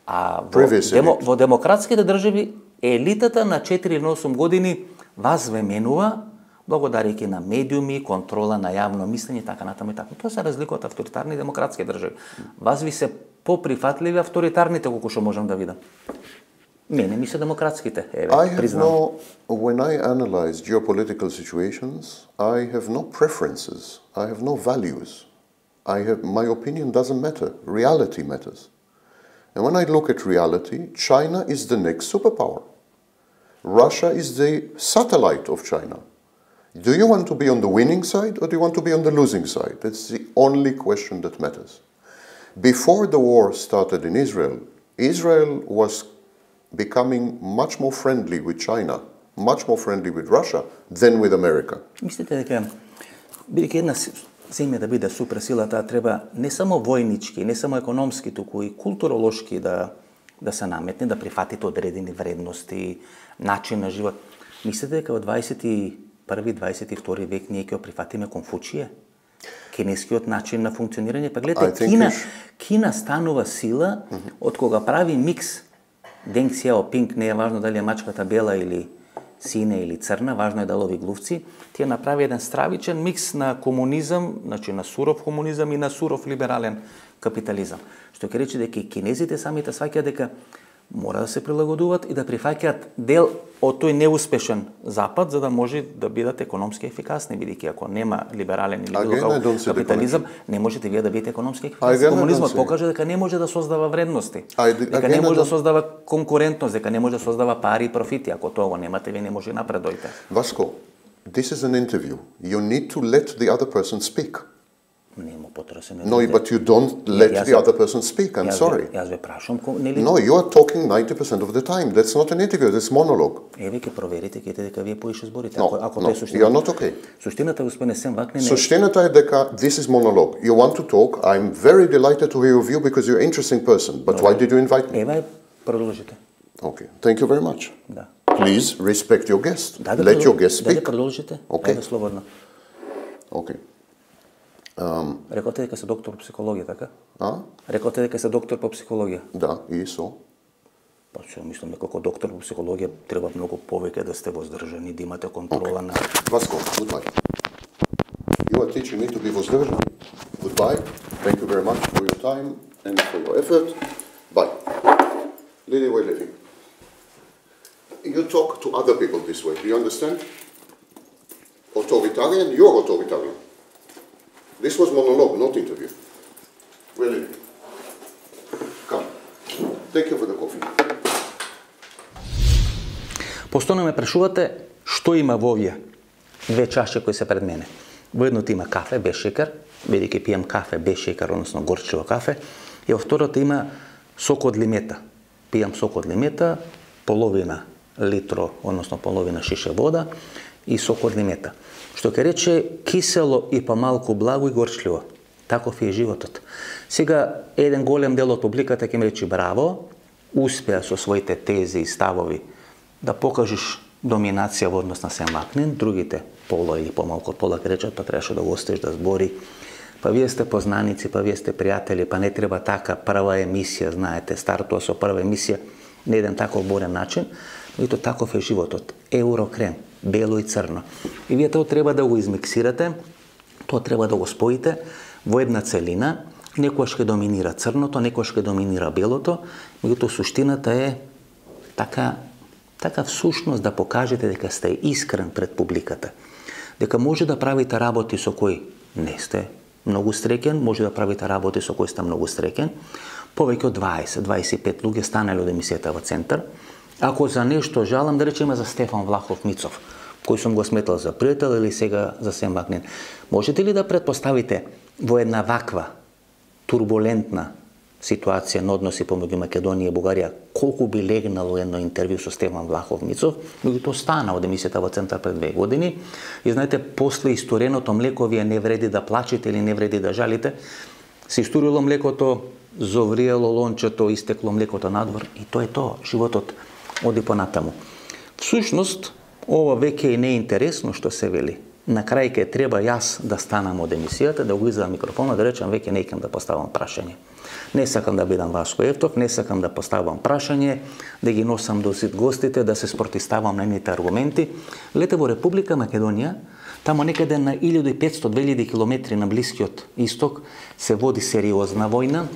А во, демо, во демократските држави елитата на четири или осум години вас ве менува благодарејќи на медиуми, контрола на јавно мислење и така натаму и така. Тоа се разлика од авторитарни демократски држави. Вас ви се поприфатливи авторитарните колку што можам да видам. Мене ми се демократските, еве, признам. No, when I analyze geopolitical situations, I have no preferences. I have no values. I have my opinion doesn't matter. Reality matters. And when I look at reality, China is the next superpower. Russia is the satellite of China. Do you want to be on the winning side or do you want to be on the losing side? That's the only question that matters. Before the war started in Israel, Israel was becoming much more friendly with China, much more friendly with Russia than with America. Мислите дека бидејќи една земја да биде суперсила, таа треба не само војнички, не само економски, туку и културолошки да да се наметне, да прифатите одредени вредности, начин на живот. Мислите дека во дваесет и први дваесет и втори век ние ќе прифатиме Конфуција? кинескиот начин на функционирање. Па гледате, Кина, Кина станува сила mm-hmm. од кога прави микс Денг Сјаопинг, не е важно дали е мачката бела или сине или црна, важно е да лови глувци, тие направи еден стравичен микс на комунизам, значи на суров комунизам и на суров либерален капитализам. Што ќе рече дека и кинезите самите сваќаат дека мора да се прилагодуваат и да прифаќаат дел од тој неуспешен запад за да може да бидат економски ефикасни, бидејќи ако нема либерален или било каков капитализам, не можете вие да бидете економски ефикасни. Комунизмот покажа дека не може да создава вредности, дека не може да создава конкурентност, дека не може да создава пари и профити. Ако тоа го немате, вие не може напредојте. Vasco, this is an interview. You need to let the other person speak. No, but you don't let the other person speak. I'm sorry. No, you are talking ninety percent of the time. That's not an interview, that's monologue. Еве ќе проверите, ќе дека вие поише зборите. No, ако no, you are not okay. Суштината господин Есен Вакнин е Суштината е дека this is monologue. You want to talk. I'm very delighted to hear your view because you're an interesting person. But why did you invite me? Еве продолжите. Okay. Thank you very much. Да. Please respect your guest. Let your guest speak. Да продолжите. Okay. Еве слободно. Okay. Um, Рекоте дека се доктор по психологија, така? А? Рекоте дека се доктор по психологија. Да, и со. Па што мислам дека како доктор по психологија треба многу повеќе да сте воздржани, да имате контрола на. Vasco, goodbye. You are teaching me to be воздржан. Goodbye. Thank you very much for your time and for your effort. Bye. Lady way living. You talk to other people this way. Do you understand? Authoritarian, you're authoritarian. This was monologue, not interview. Really? Come. Thank you for the coffee. Постојано ме прашувате што има во овие две чаши кои се пред мене. Во едното има кафе без шекер, бидејќи пијам кафе без шекер, односно горчиво кафе, и во второто има сок од лимета. Пијам сок од лимета, половина литро, односно половина шише вода и сок од лимета. Што ќе рече кисело и помалку благо и горчливо. Таков е животот. Сега еден голем дел од публиката ќе ми рече браво, успеа со своите тези и ставови да покажеш доминација во однос на Сен Вакнин, другите пола или помалку од пола ќе речат, па требаше да го оставиш да збори. Па вие сте познаници, па вие сте пријатели, па не треба така прва емисија, знаете, стартува со прва емисија на еден таков борен начин, но и то таков е животот. Еврокрем, бело и црно. И вие тоа треба да го измиксирате, тоа треба да го споите во една целина, некојаш ќе доминира црното, некојаш ќе доминира белото, меѓутоа суштината е така, така всушност да покажете дека сте искрен пред публиката. Дека може да правите работи со кои не сте многу среќен, може да правите работи со кои сте многу среќен. Повеќе од дваесет до дваесет и пет луѓе станале од емисијата во Центар. Ако за нешто жалам, да речеме за Стефан Влахов Мицов, кој сум го сметал за пријател или сега за Сен Вакнин, можете ли да претпоставите во една ваква турбулентна ситуација на односи помеѓу Македонија и Бугарија, колку би легнало едно интервју со Стефан Влахов Мицов, меѓутоа стана од емисијата во Центар пред две години. И знаете, после истореното млеко вие не вреди да плачете или не вреди да жалите. Се историло млекото, зовриело лончето, истекло млекото надвор и тоа е тоа, животот оди понатаму. Всушност, ова веќе не е интересно што се вели. На крај ке треба јас да станам од емисијата, да го извадам микрофонот, да речам веќе не икам да поставам прашање. Не сакам да бидам Васко Евтов, не сакам да поставам прашање, да ги носам до сит гостите, да се спротиставам на нивните аргументи. Лете во Република Македонија, тамо некаде на илјада и петстотини до две илјади километри на Блискиот исток се води сериозна војна,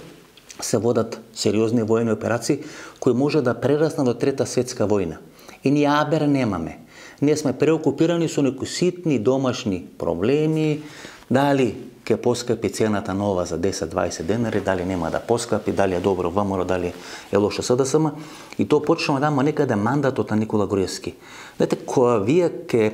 се водат сериозни војни операции кои може да прераснат до Трета светска војна. И ние абер немаме. Ние сме преокупирани со некои ситни домашни проблеми, дали ќе поскапи цената нова за десет до дваесет денари, дали нема да поскапи, дали е добро ВМРО, дали е лошо СДСМ. И тоа почнува да има некаде мандатот на Никола Груевски. Знаете, кога вие ќе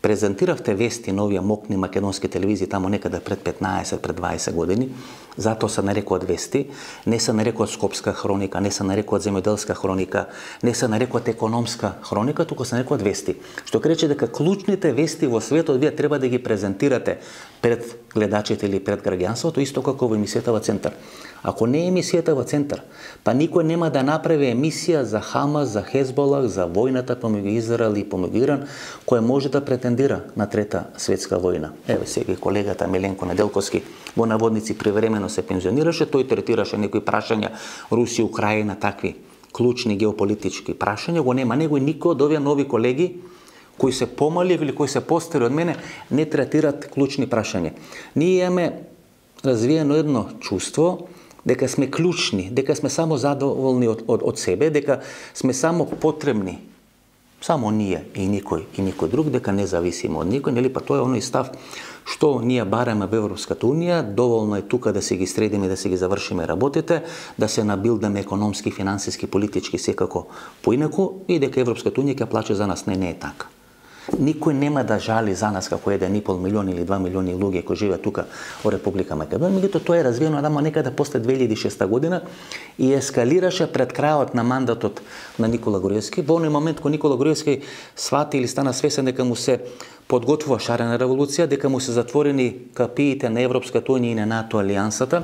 презентиравте вести на овие мокни македонски телевизии тамо некаде пред петнаесет, пред дваесет години, затоа се нарекуваат вести, не се нарекуваат Скопска хроника, не се нарекуваат Земјоделска хроника, не се нарекуваат Економска хроника, туку се нарекуваат вести. Што рече дека клучните вести во светот вие треба да ги презентирате пред гледачите или пред граѓанството, исто како во емисијата во Центар. Ако не е емисијата во Центар, па никој нема да направи емисија за Хамас, за Хезболах, за војната помеѓу Израел и помеѓу Иран, која може да претендира суспендира на Трета светска војна. Еве сега колегата Миленко Неделковски во наводници привремено се пензионираше, тој третираше некои прашања Русија, Украина, такви клучни геополитички прашања, го нема него и никој од овие нови колеги кои се помали или кои се постари од мене не третират клучни прашања. Ние имаме развиено едно чувство дека сме клучни, дека сме само задоволни од, од, од себе, дека сме само потребни, само ние и никој и никој друг, дека не зависиме од никој, нели, па тоа е оној став што ние бараме во Европската унија, доволно е тука да се ги средиме, да се ги завршиме работите, да се набилдаме економски, финансиски, политички, секако поинаку и дека Европската унија ќе плаче за нас. Не, не е така. Никој нема да жали за нас како еден и пол милион или два милиони луѓе кои живеат тука во Република Македонија, меѓутоа тоа е развиено надамо некаде после две илјади и шеста година и ескалираше пред крајот на мандатот на Никола Груевски. Во оној момент кога Никола Груевски свати или стана свесен дека му се подготвува шарена револуција, дека му се затворени капиите на Европската унија и на НАТО алијансата,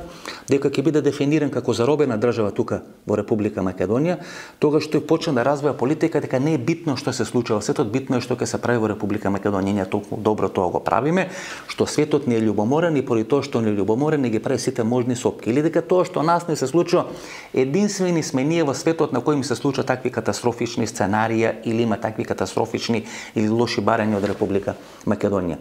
дека ќе биде дефиниран како заробена држава тука во Република Македонија, тогаш тој почна да развива политика дека не е битно што се случува во светот, битно е што ќе се прави во Република Македонија. Ние толку добро тоа го правиме, што светот не е љубоморен и поради тоа што не е љубоморен не ги прави сите можни сопки. Или дека тоа што нас не се случува, единствени сме ние во светот на кој ми се случува такви катастрофични сценарија или има такви катастрофични или лоши барања од Република Македонија.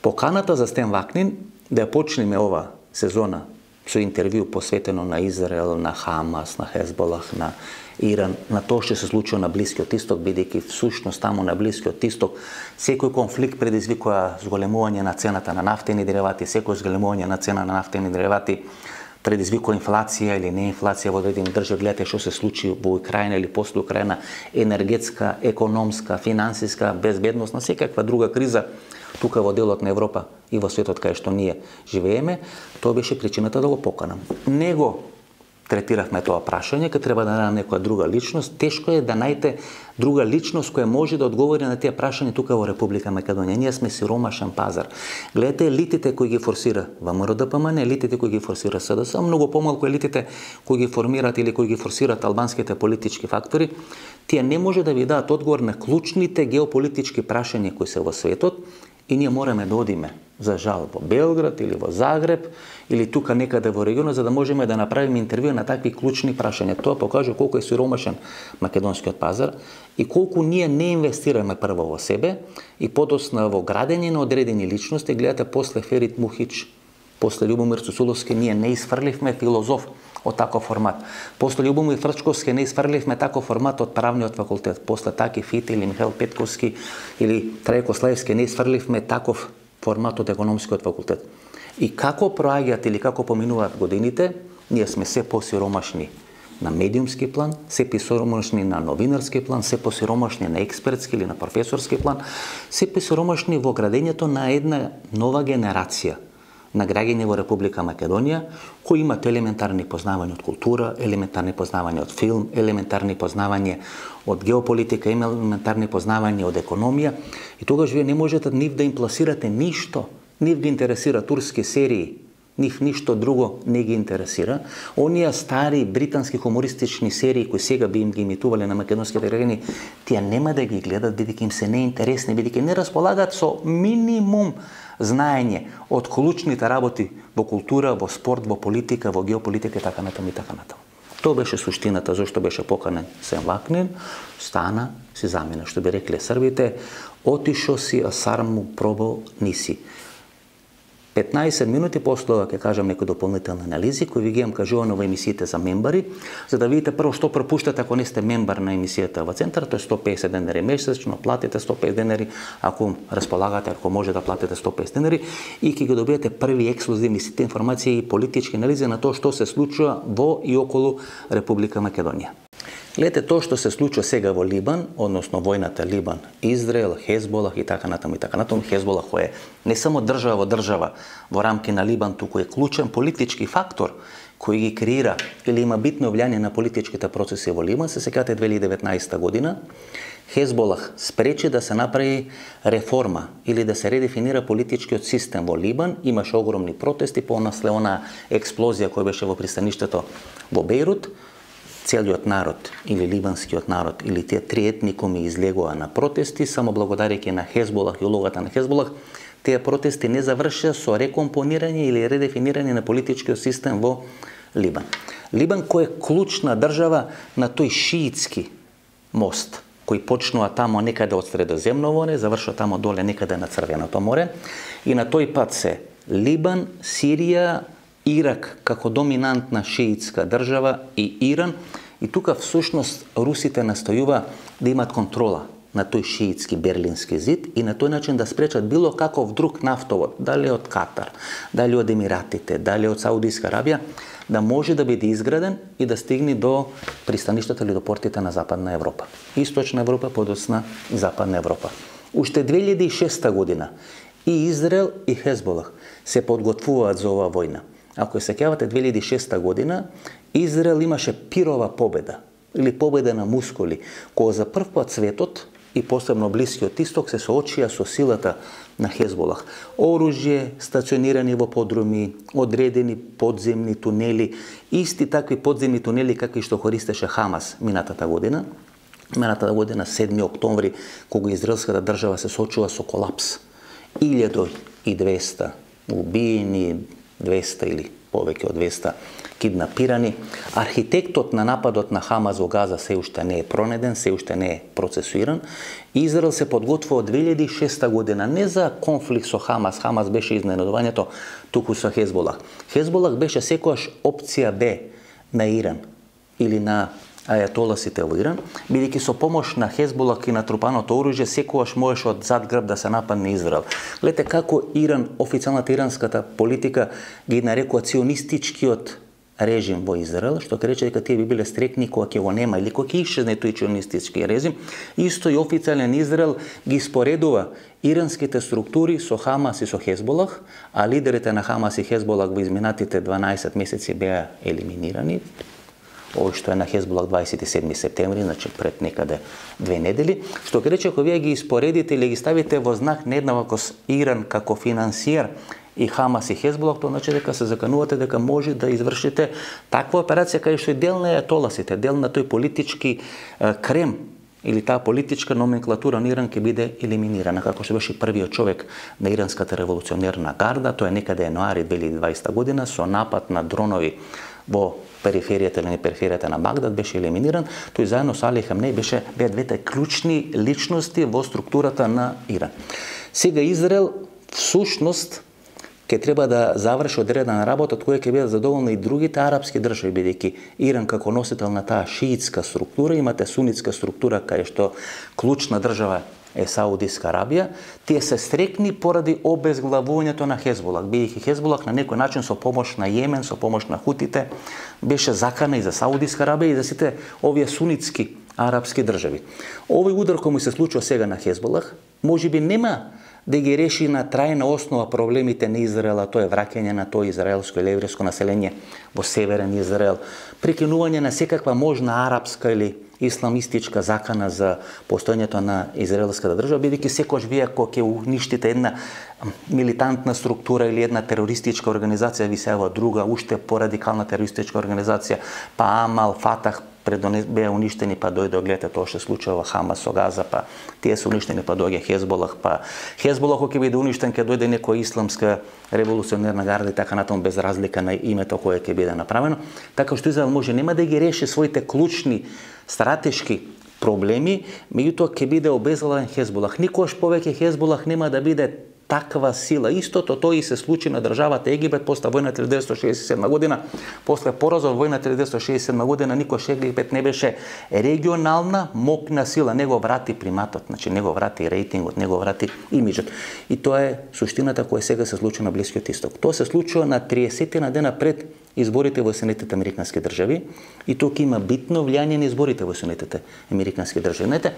Поканата за Стен Вакнин да ја почнеме ова сезона со интервју посветено на Израел, на Хамас, на Хезболах, на Иран, на тоа што се случува на Блискиот Исток, бидејќи всушност таму на Блискиот Исток секој конфликт предизвикува зголемување на цената на нафтени деривати, секој зголемување на цена на нафтени деривати предизвикува инфлација или не инфлација во одредени држави. Гледате што се случи во Украина или после Украина, енергетска, економска, финансиска, безбедносна, секаква друга криза тука во делот на Европа и во светот кај што ние живееме. Тоа беше причината да го поканам. Него третиравме тоа прашање, кога треба да најдам некоја друга личност. Тешко е да најдете друга личност која може да одговори на тие прашања тука во Република Македонија. Ние сме сиромашен пазар. Гледате, елитите кои ги форсира ВМРО Д П М Н, елитите кои ги форсира С Д С, многу помалку елитите кои ги формираат или кои ги форсираат албанските политички фактори, тие не може да ви дадат одговор на клучните геополитички прашања кои се во светот и ние мораме да одиме, за жал, во Белград или во Загреб или тука некаде во регионот, за да можеме да направиме интервју на такви клучни прашања. Тоа покажува колку е сиромашен македонскиот пазар и колку ние не инвестираме прво во себе и подосна во градење на одредени личности. Гледате, после Ферит Мухич, после Љубомир Цуцуловски, ние не изфрливме филозоф од таков формат. После Љубомир Фрчковски не изфрливме таков формат од правниот факултет. После Таки Фити или Михаил Петковски или Трајко Слаевски не изфрливме таков формат од економскиот факултет. И како проаѓаат или како поминуваат годините, ние сме се посиромашни на медиумски план, се посиромашни на новинарски план, се посиромашни на експертски или на професорски план, се посиромашни во градењето на една нова генерација на граѓање во Република Македонија, кои имат елементарни познавања од култура, елементарни познавања од филм, елементарни познавања од геополитика, елементарни познавања од економија. И тогаш вие не можете нив да им пласирате ништо. Нив ги интересира турски серии, нив ништо друго не ги интересира. Оние стари британски хумористични серии кои сега би им ги имитувале на македонските граѓани, тие нема да ги гледат бидејќи им се неинтересни, бидејќи не располагаат со минимум знаење од клучните работи во култура, во спорт, во политика, во геополитика и така натаму и така натаму. Тоа беше суштината зашто беше поканен Стен Вакнин. Стана, си замина, што би рекле србите, отишо си, а сарму пробал ниси. петнаесет минути после ова ќе кажам некои дополнителни анализи кои ви ги имам кажувано во емисиите за мембари, за да видите прво што пропуштате ако не сте мембар на емисијата во центарот. Тоа е сто песет денари месечно, платите сто песет денари, ако располагате, ако може да платите сто песет денари и ќе ги добиете први ексклузивни сите информации и политички анализи на тоа што се случува во и околу Република Македонија. Гледате, тоа што се случува сега во Либан, односно војната Либан, Израел, Хезболах и така натаму и така натаму. Хезболах кој е не само држава во држава во рамки на Либан, туку е клучен политички фактор кој ги креира или има битно влијание на политичките процеси во Либан. Се сеќавате две илјади и деветнаесета година, Хезболах спречи да се направи реформа или да се редефинира политичкиот систем во Либан. Имаше огромни протести по насле она експлозија која беше во пристаништето во Бејрут. целиот народ или либанскиот народ или тие три етникуми излегоа на протести, само благодарејќи на Хезболах и улогата на Хезболах, тие протести не завршија со рекомпонирање или редефинирање на политичкиот систем во Либан. Либан кој е клучна држава на тој шиитски мост, кој почнува тамо некаде од Средоземно море, завршува тамо доле некаде на Црвеното море, и на тој пат се Либан, Сирија, Ирак како доминантна шиитска држава и Иран, и тука всушност русите настојува да имат контрола на тој шиитски Берлински зид и на тој начин да спречат било каков друг нафтовод, дали од Катар, дали од Емиратите, дали од Саудиска Арабија, да може да биде изграден и да стигне до пристаништата или до портите на Западна Европа. Источна Европа, подоцна Западна Европа. Уште две илјади и шеста година и Израел и Хезболах се подготвуваат за оваа војна. Ако се сеќавате, две илјади и шеста година Израел имаше пирова победа или победа на мускули, кога за прв пат светот и посебно Блискиот Исток се соочија со силата на Хезболах. Оружје, стационирани во подруми, одредени подземни тунели, исти такви подземни тунели какви што користеше Хамас минатата година. Минатата година, седми октомври, кога израелската држава се соочува со колапс. илјада и двеста убиени, двеста или повеќе од двеста киднапирани. Архитектот на нападот на Хамас во Газа се уште не е пронеден, се уште не е процесуиран. Израел се подготвува од две илјади и шеста година не за конфликт со Хамас, Хамас беше изненадувањето, туку со Хезболах. Хезболах беше секогаш опција Б на Иран или на ајатоласите во Иран, бидејќи со помош на Хезболах и натрупаното оружје секогаш можеше од зад грб да се нападне Израел. Гледате како Иран, официјалната иранската политика ги нарекува ционистичкиот режим во Израел, што ќе рече дека тие би биле стрекни кога ќе го нема или кога ќе исчезне тој ционистички режим. Исто и официјален Израел ги споредува иранските структури со Хамас и со Хезболах, а лидерите на Хамас и Хезболах во изминатите дванаесет месеци беа елиминирани. Ово што е на Хезболах дваесет и седми септември, значи пред некаде две недели, што ќе рече ако вие ги испоредите или ги ставите во знак на еднаквост Иран како финансиер и Хамас и Хезболах, тоа значи дека се заканувате дека може да извршите таква операција кај што е дел на ајатоласите, дел на тој политички е, крем или таа политичка номенклатура на Иран ќе биде елиминирана, како што беше првиот човек на иранската револуционерна гарда, тоа е некаде јануари две илјади и дваесета година со напад на дронови во периферијата или не периферијата на Багдад беше елиминиран, тој заедно со Али Хамнеј беше беа двете клучни личности во структурата на Иран. Сега Израел всушност ќе треба да заврши одредена работа од која ќе бидат задоволни и другите арапски држави, бидејќи Иран како носител на таа шиитска структура, имате сунитска структура кај што клучна држава е Саудиска Арабија, тие се стрекни поради обезглавувањето на Хезболах, бидејќи Хезболах на некој начин со помош на Јемен, со помош на хутите, беше закана и за Саудиска Арабија и за сите овие сунитски арапски држави. Овој удар кој му се случува сега на Хезболах, можеби нема да ги реши на трајна основа проблемите на Израел, тоа е враќање на тоа израелско или еврејско население во северен Израел, прекинување на секаква можна арапска или исламистичка закана за постојањето на израелската држава, бидејќи секогаш вие кога ќе уништите една милитантна структура или една терористичка организација, ви се јава друга, уште порадикална терористичка организација, па Амал, Фатах беа уништени, па дојде, гледате тоа што се случува во Хамас со Газа, па тие се уништени, па доаѓа Хезболах, па Хезболах ќе биде уништен, ќе дојде некоја исламска револуционерна гарда и така натаму, без разлика на името кое ќе биде направено. Така што Израел може нема да ги реши своите клучни стратешки проблеми, меѓутоа ќе биде обезглавен Хезболах. Никогаш повеќе Хезболах нема да биде таква сила. Истото тоа и се случи на државата Египет после војната илјада деветстотини шеесет и седма година. После поразот во војната илјада деветстотини шеесет и седма година никош Египет не беше регионална мокна сила, него врати приматот, значи него врати рейтингот, него врати имиджот. И тоа е суштината која сега се случува на Блискиот Исток. Тоа се случува на триесет дена пред изборите во Соединетите американски држави и тоа ќе има битно влијание на изборите во Соединетите американски држави. Знаете,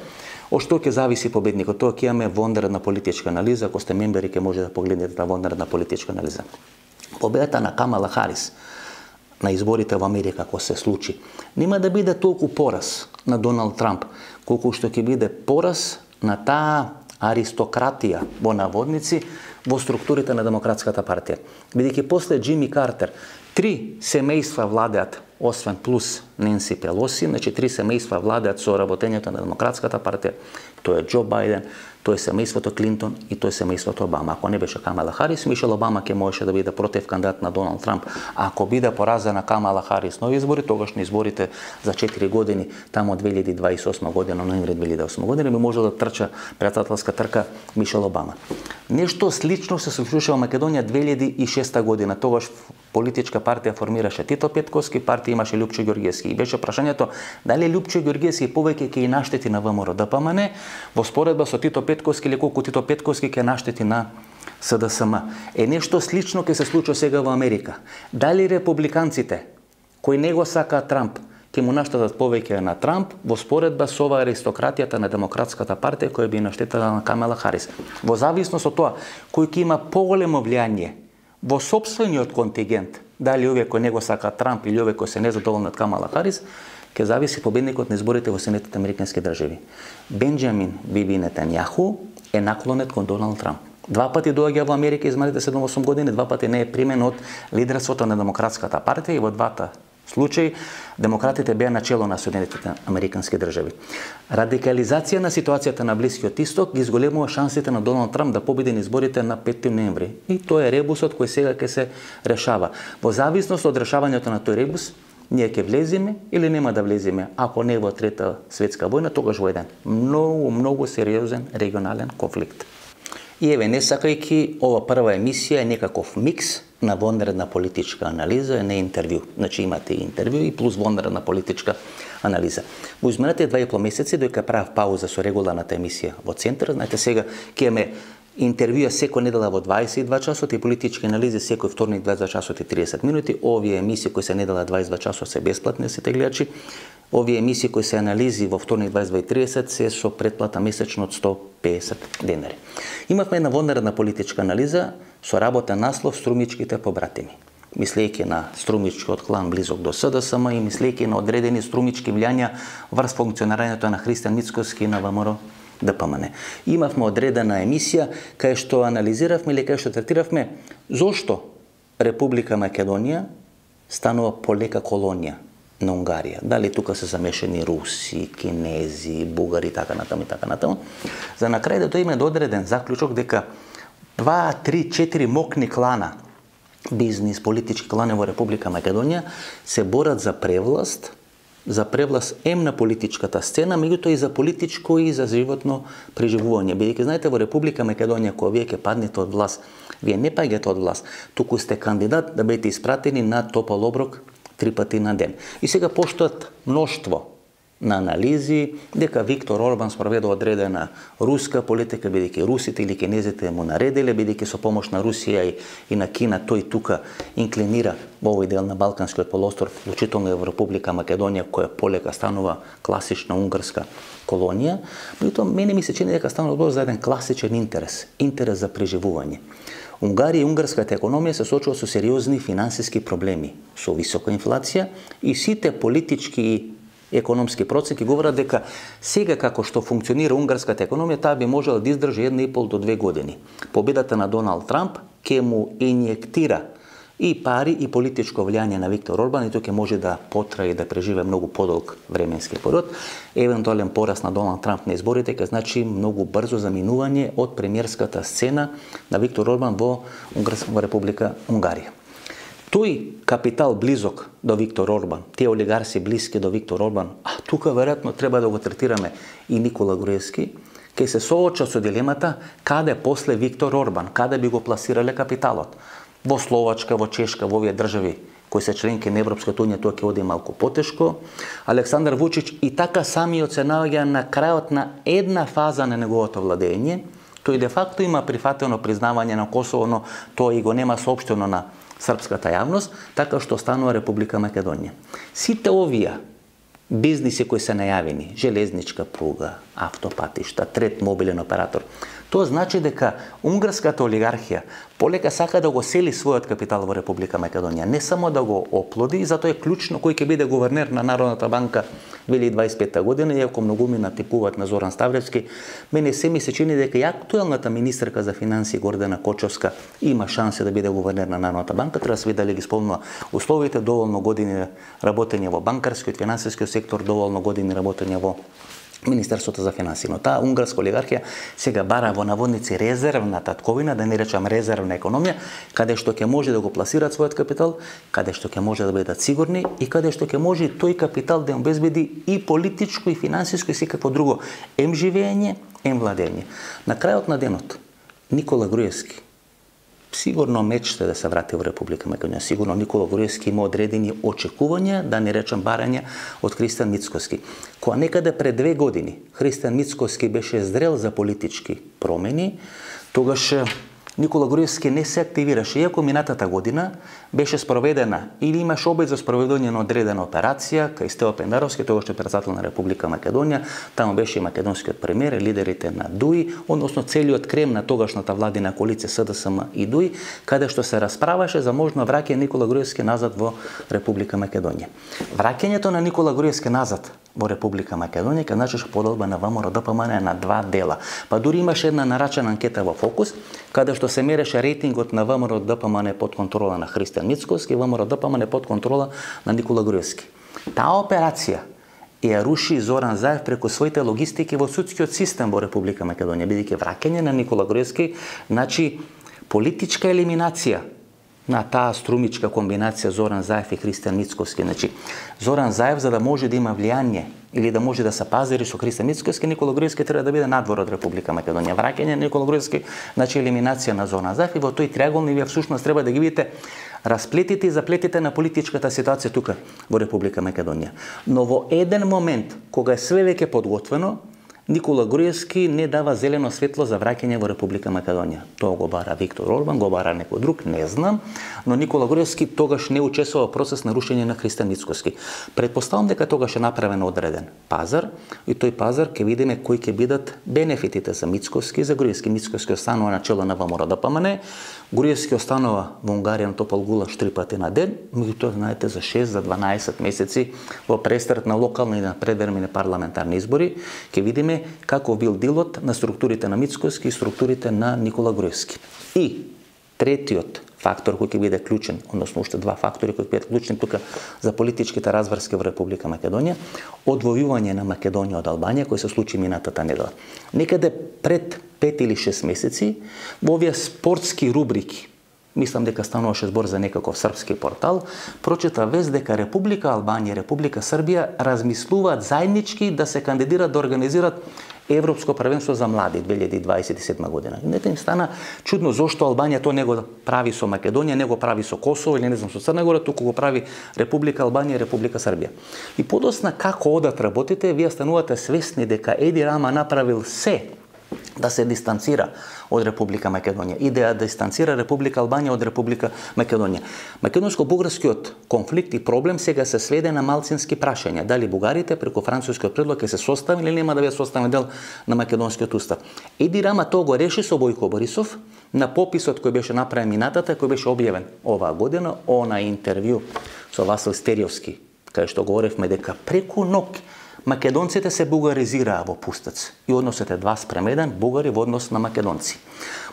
од што ќе зависи победникот? Тоа ќе имаме вонредна политичка анализа, ако сте мембери ќе може да погледнете таа вонредна политичка анализа. Победата на Камала Харис на изборите во Америка, ако се случи, нема да биде толку пораз на Доналд Трамп, колку што ќе биде пораз на таа аристократија во наводници во структурите на Демократската партија. Бидејќи после Џими Картер три семејства владеат освен плюс Ненси Пелоси, значи три семејства владеат со работењето на Демократската партија. Тоа е Џо Бајден, тоа е семејството Клинтон и тоа е семејството Обама. Ако не беше Камала Харис, Мишел Обама ќе можеше да биде против кандидат на Доналд Трамп. А ако биде поразена Камала Харис на избори, тогаш на изборите за четири години, тамо од две илјади дваесет и осма година, ноември две илјади и осма година, би можел да трча председателска трка Мишел Обама. Нешто слично се случуваше во Македонија две илјади и шеста година. Тогаш политичка партија формираше Тито Петковски, партија имаше Лјупчо Ѓорѓевски. И беше прашањето дали Лјупчо Ѓорѓевски повеќе ќе и наштети на ВМРО Д П М Н во споредба со Тито Петковски или колку Тито Петковски ќе наштети на С Д С М. Е нешто слично ќе се случи сега во Америка. Дали републиканците кои не го сакаат Трамп ќе му наштетат повеќе на Трамп во споредба со ова аристократијата на Демократската партија која би наштетала на Камала Харис. Во зависност од тоа кој ќе има поголемо влијание во сопствениот контингент, дали овие кои не го сакаат Трамп или овие кои се незадоволни од Камала Харис, ќе зависи победникот на изборите во Соединетите американски држави. Бенџамин Биби Нетањаху е наклонет кон Доналд Трамп. Два пати доаѓа во Америка изминалите седум-осум години, два пати не е примен од лидерството на Демократската партија и во двата случаи демократите беа начело на Соединетите американски држави. Радикализација на ситуацијата на Блискиот Исток ги зголемува шансите на Доналд Трамп да победи на изборите на петти ноември. И тоа е ребусот кој сега ќе се решава. Во зависност од решавањето на тој ребус, ние ќе влеземе или нема да влеземе, ако не во трета светска војна, тогаш во еден многу, многу сериозен регионален конфликт. И еве, не сакајќи, ова прва емисија е некаков микс на вонредна политичка анализа, не интервју. Значи имате и интервју и плюс вонредна политичка анализа. Во изминатите два и пол месеци, дојка правев пауза со регуларната емисија во Центар, знаете сега ќе имаме интервјуа секој недела во дваесет и два часот и политички анализи секој вторник дваесет и два часот и тридесет минути. Овие емисии кои се недела дваесет и два часот се бесплатни сите гледачи. Овие емисии кои се анализи во вторник дваесет и два и тридесет се со претплата месечно од сто песет денари. Имавме една вонредна политичка анализа со работен наслов Струмичките побратими. Мислејќи на струмичкиот клан близок до С Д С М и мислејќи на одредени струмички влијања врз функционирањето на Христијан Мицкоски на ВМРО Д П М Н. Имавме одредена емисија кај што анализиравме или кај што третиравме зошто Република Македонија станува полека колонија на Унгарија. Дали тука се замешани руси, кинези, бугари, така натаму и така натаму. За на крај да дојме до одреден заклучок дека два, три, четири мокни клана, бизнис, политички клани во Република Македонија се борат за превласт, за превласт ем на политичката сцена, меѓутоа и за политичко и за животно преживување. Бидејќи знаете во Република Македонија кога вие ќе паднете од власт, вие не паѓате од власт, туку сте кандидат да бидете испратени на топол оброк три пати на ден. И сега постојат мноштво на анализи дека Виктор Орбан спроведе одредена руска политика, бидејќи русите или кинезите му наределе, бидејќи со помош на Русија и, и на Кина тој тука инклинира во овој дел на Балканскиот полуостров, вклучително и во Република Македонија, која полека станува класична унгарска колонија. Меѓутоа, мене ми се чини дека станува збор за еден класичен интерес, интерес за преживување. Унгарија и унгарската економија се соочува со сериозни финансиски проблеми, со висока инфлација и сите политички и економски процеси говорат дека сега како што функционира унгарската економија, таа би можела да издржи една и пол до две години. Победата на Доналд Трамп ќе му инјектира и пари и политичко влијание на Виктор Орбан и тој ќе може да потрае и да преживе многу подолг временски период. Евентуален пораст на Доналд Трамп на изборите ќе значи многу брзо заминување од премиерската сцена на Виктор Орбан во, во Република Унгарија. Тој капитал близок до Виктор Орбан, тие олигарси блиски до Виктор Орбан, а тука веројатно треба да го третираме и Никола Груевски, ќе се соочат со дилемата каде после Виктор Орбан, каде би го пласирале капиталот. Во Словачка, во Чешка, во овие држави кои се членки на Европската унија, тоа ќе оди малку потешко. Александар Вучич и така самиот се наоѓа на крајот на една фаза на неговото владење. Тој де факто има прифатено признавање на Косово, но тоа и го нема соопштено на српската јавност, така што станува Република Македонија. Сите овие бизниси кои се најавени, железничка пруга, автопатишта, трет мобилен оператор, Тоа значи дека унгарската олигархија полека сака да го сели својот капитал во Република Македонија, не само да го оплоди, и затоа е клучно кој ќе биде гувернер на Народната банка две илјади дваесет и пета година, иако многуми натипуваат на Зоран Ставлевски, мене се ми се чини дека и актуелната министерка за финансии Гордана Кочовска има шанси да биде гувернер на Народната банка. Треба да се види дали ги исполнува условите, доволно години работење во банкарскиот, финансискиот сектор, доволно години работење во Министерството за финансии. Но таа унгарска олигархија сега бара во наводници резервна татковина, да не речам резервна економија, каде што ќе може да го пласираат својот капитал, каде што ќе може да бидат сигурни и каде што ќе може тој капитал да им обезбеди и политичко, и финансиско, и секакво друго ем живење, ем владење. На крајот на денот Никола Груевски сигурно мечта да се врати во Република Македонија. Сигурно Никола Груевски има одредени очекувања, да не речам барања, од Христијан Мицкоски. Кога некаде пред две години Христијан Мицкоски беше зрел за политички промени, тогаш Никола Груевски не се активираше, иако минатата година беше спроведена или имаше обид за спроведување на одредена операција кај Стево Пендаровски, тогаш е председател на Република Македонија, таму беше и македонскиот премиер, лидерите на ДУИ, односно целиот крем на тогашната владина коалиција С Д С М и ДУИ, каде што се расправаше за можно враќање Никола Груевски назад во Република Македонија. Враќањето на Никола Груевски назад во Република Македонија ке значеше поделба на ВМРО Д П М Н на два дела. Па дури имаше една нарачена анкета во Фокус, каде што се мереше рейтингот на ВМРО Д П М Н под контрола на Христијан Мицкоски и ВМРО Д П М Н под контрола на Никола Груевски. Таа операција ја руши Зоран Заев преку своите логистики во судскиот систем во Република Македонија, бидејќи враќање на Никола Груевски значи политичка елиминација на таа струмичка комбинација Зоран Заев и Христијан Мицкоски. Значи, Зоран Заев, за да може да има влијание или да може да се пазари со Христијан Мицкоски, Никола Груевски треба да биде надвор од Република Македонија. Враќање на Никола Груевски значи елиминација на Зоран Заев, и во тој триаголник вие всушност треба да ги видите расплетите и заплетите на политичката ситуација тука во Република Македонија. Но во еден момент, кога е све веќе подготвено, Никола Груевски не дава зелено светло за враќање во Република Македонија. Тоа го бара Виктор Орбан, го бара некој друг, не знам, но Никола Груевски тогаш не учествува во процес на рушење на Христијан Мицкоски. Предпоставам дека тогаш е направен одреден пазар, и тој пазар ќе видиме кои ќе бидат бенефитите за Мицкоски и за Груевски. Мицкоски останува на чело на ВМРО Д П М Н, Груевски останува во Унгарија на топол гулаш три пати на ден, меѓутоа знаете за шест за дванаесет месеци во престрет на локални и на предвремени парламентарни избори ќе видиме како бил дилот на структурите на Мицкоски и структурите на Никола Груевски. И третиот фактор кој ќе биде клучен, односно уште два фактори кои ќе бидат клучни тука за политичките разврски во Република Македонија, одвојување на Македонија од Албанија кој се случи минатата недела. Некаде пред пет или шест месеци во овие спортски рубрики, мислам дека стануваше збор за некаков српски портал, прочита вест дека Република Албанија и Република Србија размислуваат заеднички да се кандидираат да организираат Европско првенство за млади две илјади дваесет и седма година. Нека им стана чудно зошто Албанија тоа не го прави со Македонија, не го прави со Косово или не знам со Црна Гора, туку го прави Република Албанија и Република Србија. И подосна како одат работите, вие станувате свесни дека Еди Рама направил се да се дистанцира од Република Македонија и да дистанцира Република Албанија од Република Македонија. Македонско-бугарскиот конфликт и проблем сега се сведе на малцински прашања. Дали бугарите преку францускиот предлог ќе се состави или нема да биде составен дел на македонскиот устав. Еди Рама тоа го реши со Бојко Борисов на пописот кој беше направен минатата, кој беше објавен оваа година, она интервју со Васил Стериовски, кај што говоревме дека преку ног македонците се бугаризираа во Пустец и односот е два спрема еден, бугари во однос на македонци.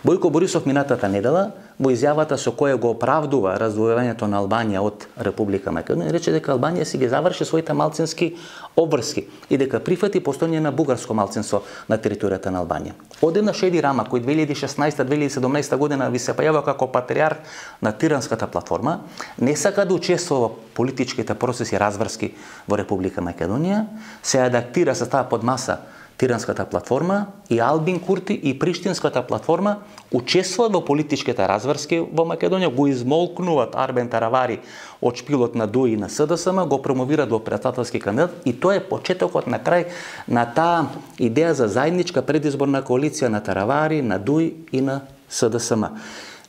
Бојко Борисов минатата недела во изјавата со која го оправдува раздвојувањето на Албанија од Република Македонија рече дека Албанија си ги заврши своите малцински обврски и дека прифати постојање на бугарско малцинство на територијата на Албанија. Одеднаш Еди Рама, кој две илјади и шеснаесета две илјади и седумнаесета година ви се појавува како патриарх на Тиранската платформа, не сака да учествува во политичките процеси разврски во Република Македонија, се адаптира, се става под маса Тиранската платформа и Албин Курти и Приштинската платформа учествуваат во политичките разврски во Македонија, го измолкнуваат Арбен Таравари од шпилот на ДУИ и на С Д С М, го промовираат во председателски кандидат и тоа е почетокот на крај на таа идеја за заедничка предизборна коалиција на Таравари, на ДУИ и на С Д С М.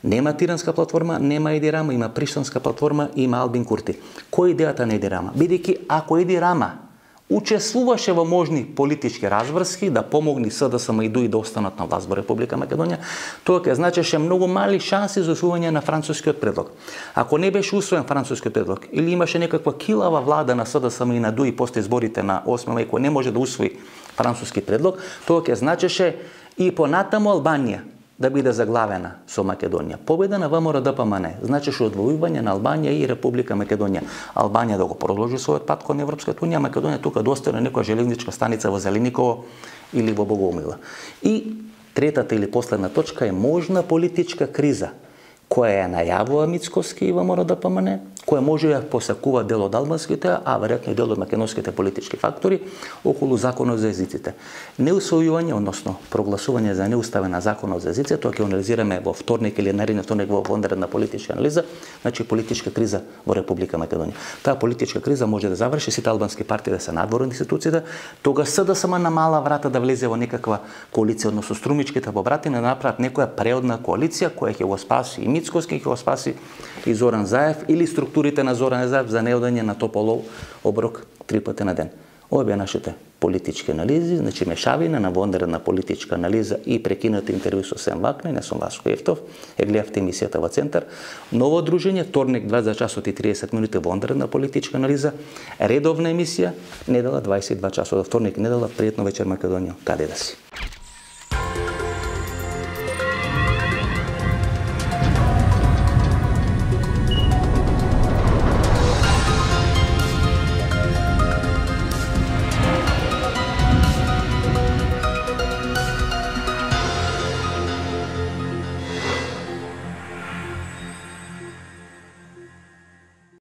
Нема Тиранска платформа, нема Еди Рама, има Приштинска платформа и има Албин Курти. Кој е идејата на Еди Рама? Бидејќи ако Еди Рама учествуваше во можни политички разврски да помогни СДСМ и ДУИ да останат на власт во Република Македонија, тоа ќе значеше многу мали шанси за усвојање на францускиот предлог. Ако не беше усвоен францускиот предлог или имаше некаква килава влада на СДСМ и на ДУИ после изборите на осми мај кој не може да усвои француски предлог, тоа ќе значеше и понатаму Албанија да биде заглавена со Македонија. Победа на ВМРО-ДПМН значеше одвојување на Албанија и Република Македонија. Албанија да го продолжи својот пат кон Европската унија, Македонија тука да остане некоја железничка станица во Зелениково или во Богомила. И третата или последна точка е можна политичка криза, која ја најавува Мицкоски и ВМРО-ДПМН, која може да посакува дел од албанските, а веројатно и дел од македонските политички фактори околу законот за езиците. Неусвојување, односно прогласување за неуставен на законот за езиците, тоа ќе анализираме во вторник или наредниот вторник во вонредна политичка анализа, значи политичка криза во Република Македонија. Таа политичка криза може да заврши сите албански партии да се надвор од институциите, тога СДСМ на мала врата да влезе во некаква коалиција, односно струмичките побратими да направат некоја преодна коалиција која ќе го спаси и Мицкоски, ќе го спаси и Зоран Заев или структурите на Зоран Заев за неодање на тополов оброк три пати на ден. Ова беа нашите политички анализи, значи мешавина на вонредна политичка анализа и прекинати интервју со Сем Вакнин, не сум Васко Ефтов, е гледавте емисијата во Центар. Ново дружење, вторник дваесет часот и триесет минути вонредна политичка анализа, редовна емисија, недела дваесет и два часот, вторник недела, пријатно вечер Македонија, каде да си.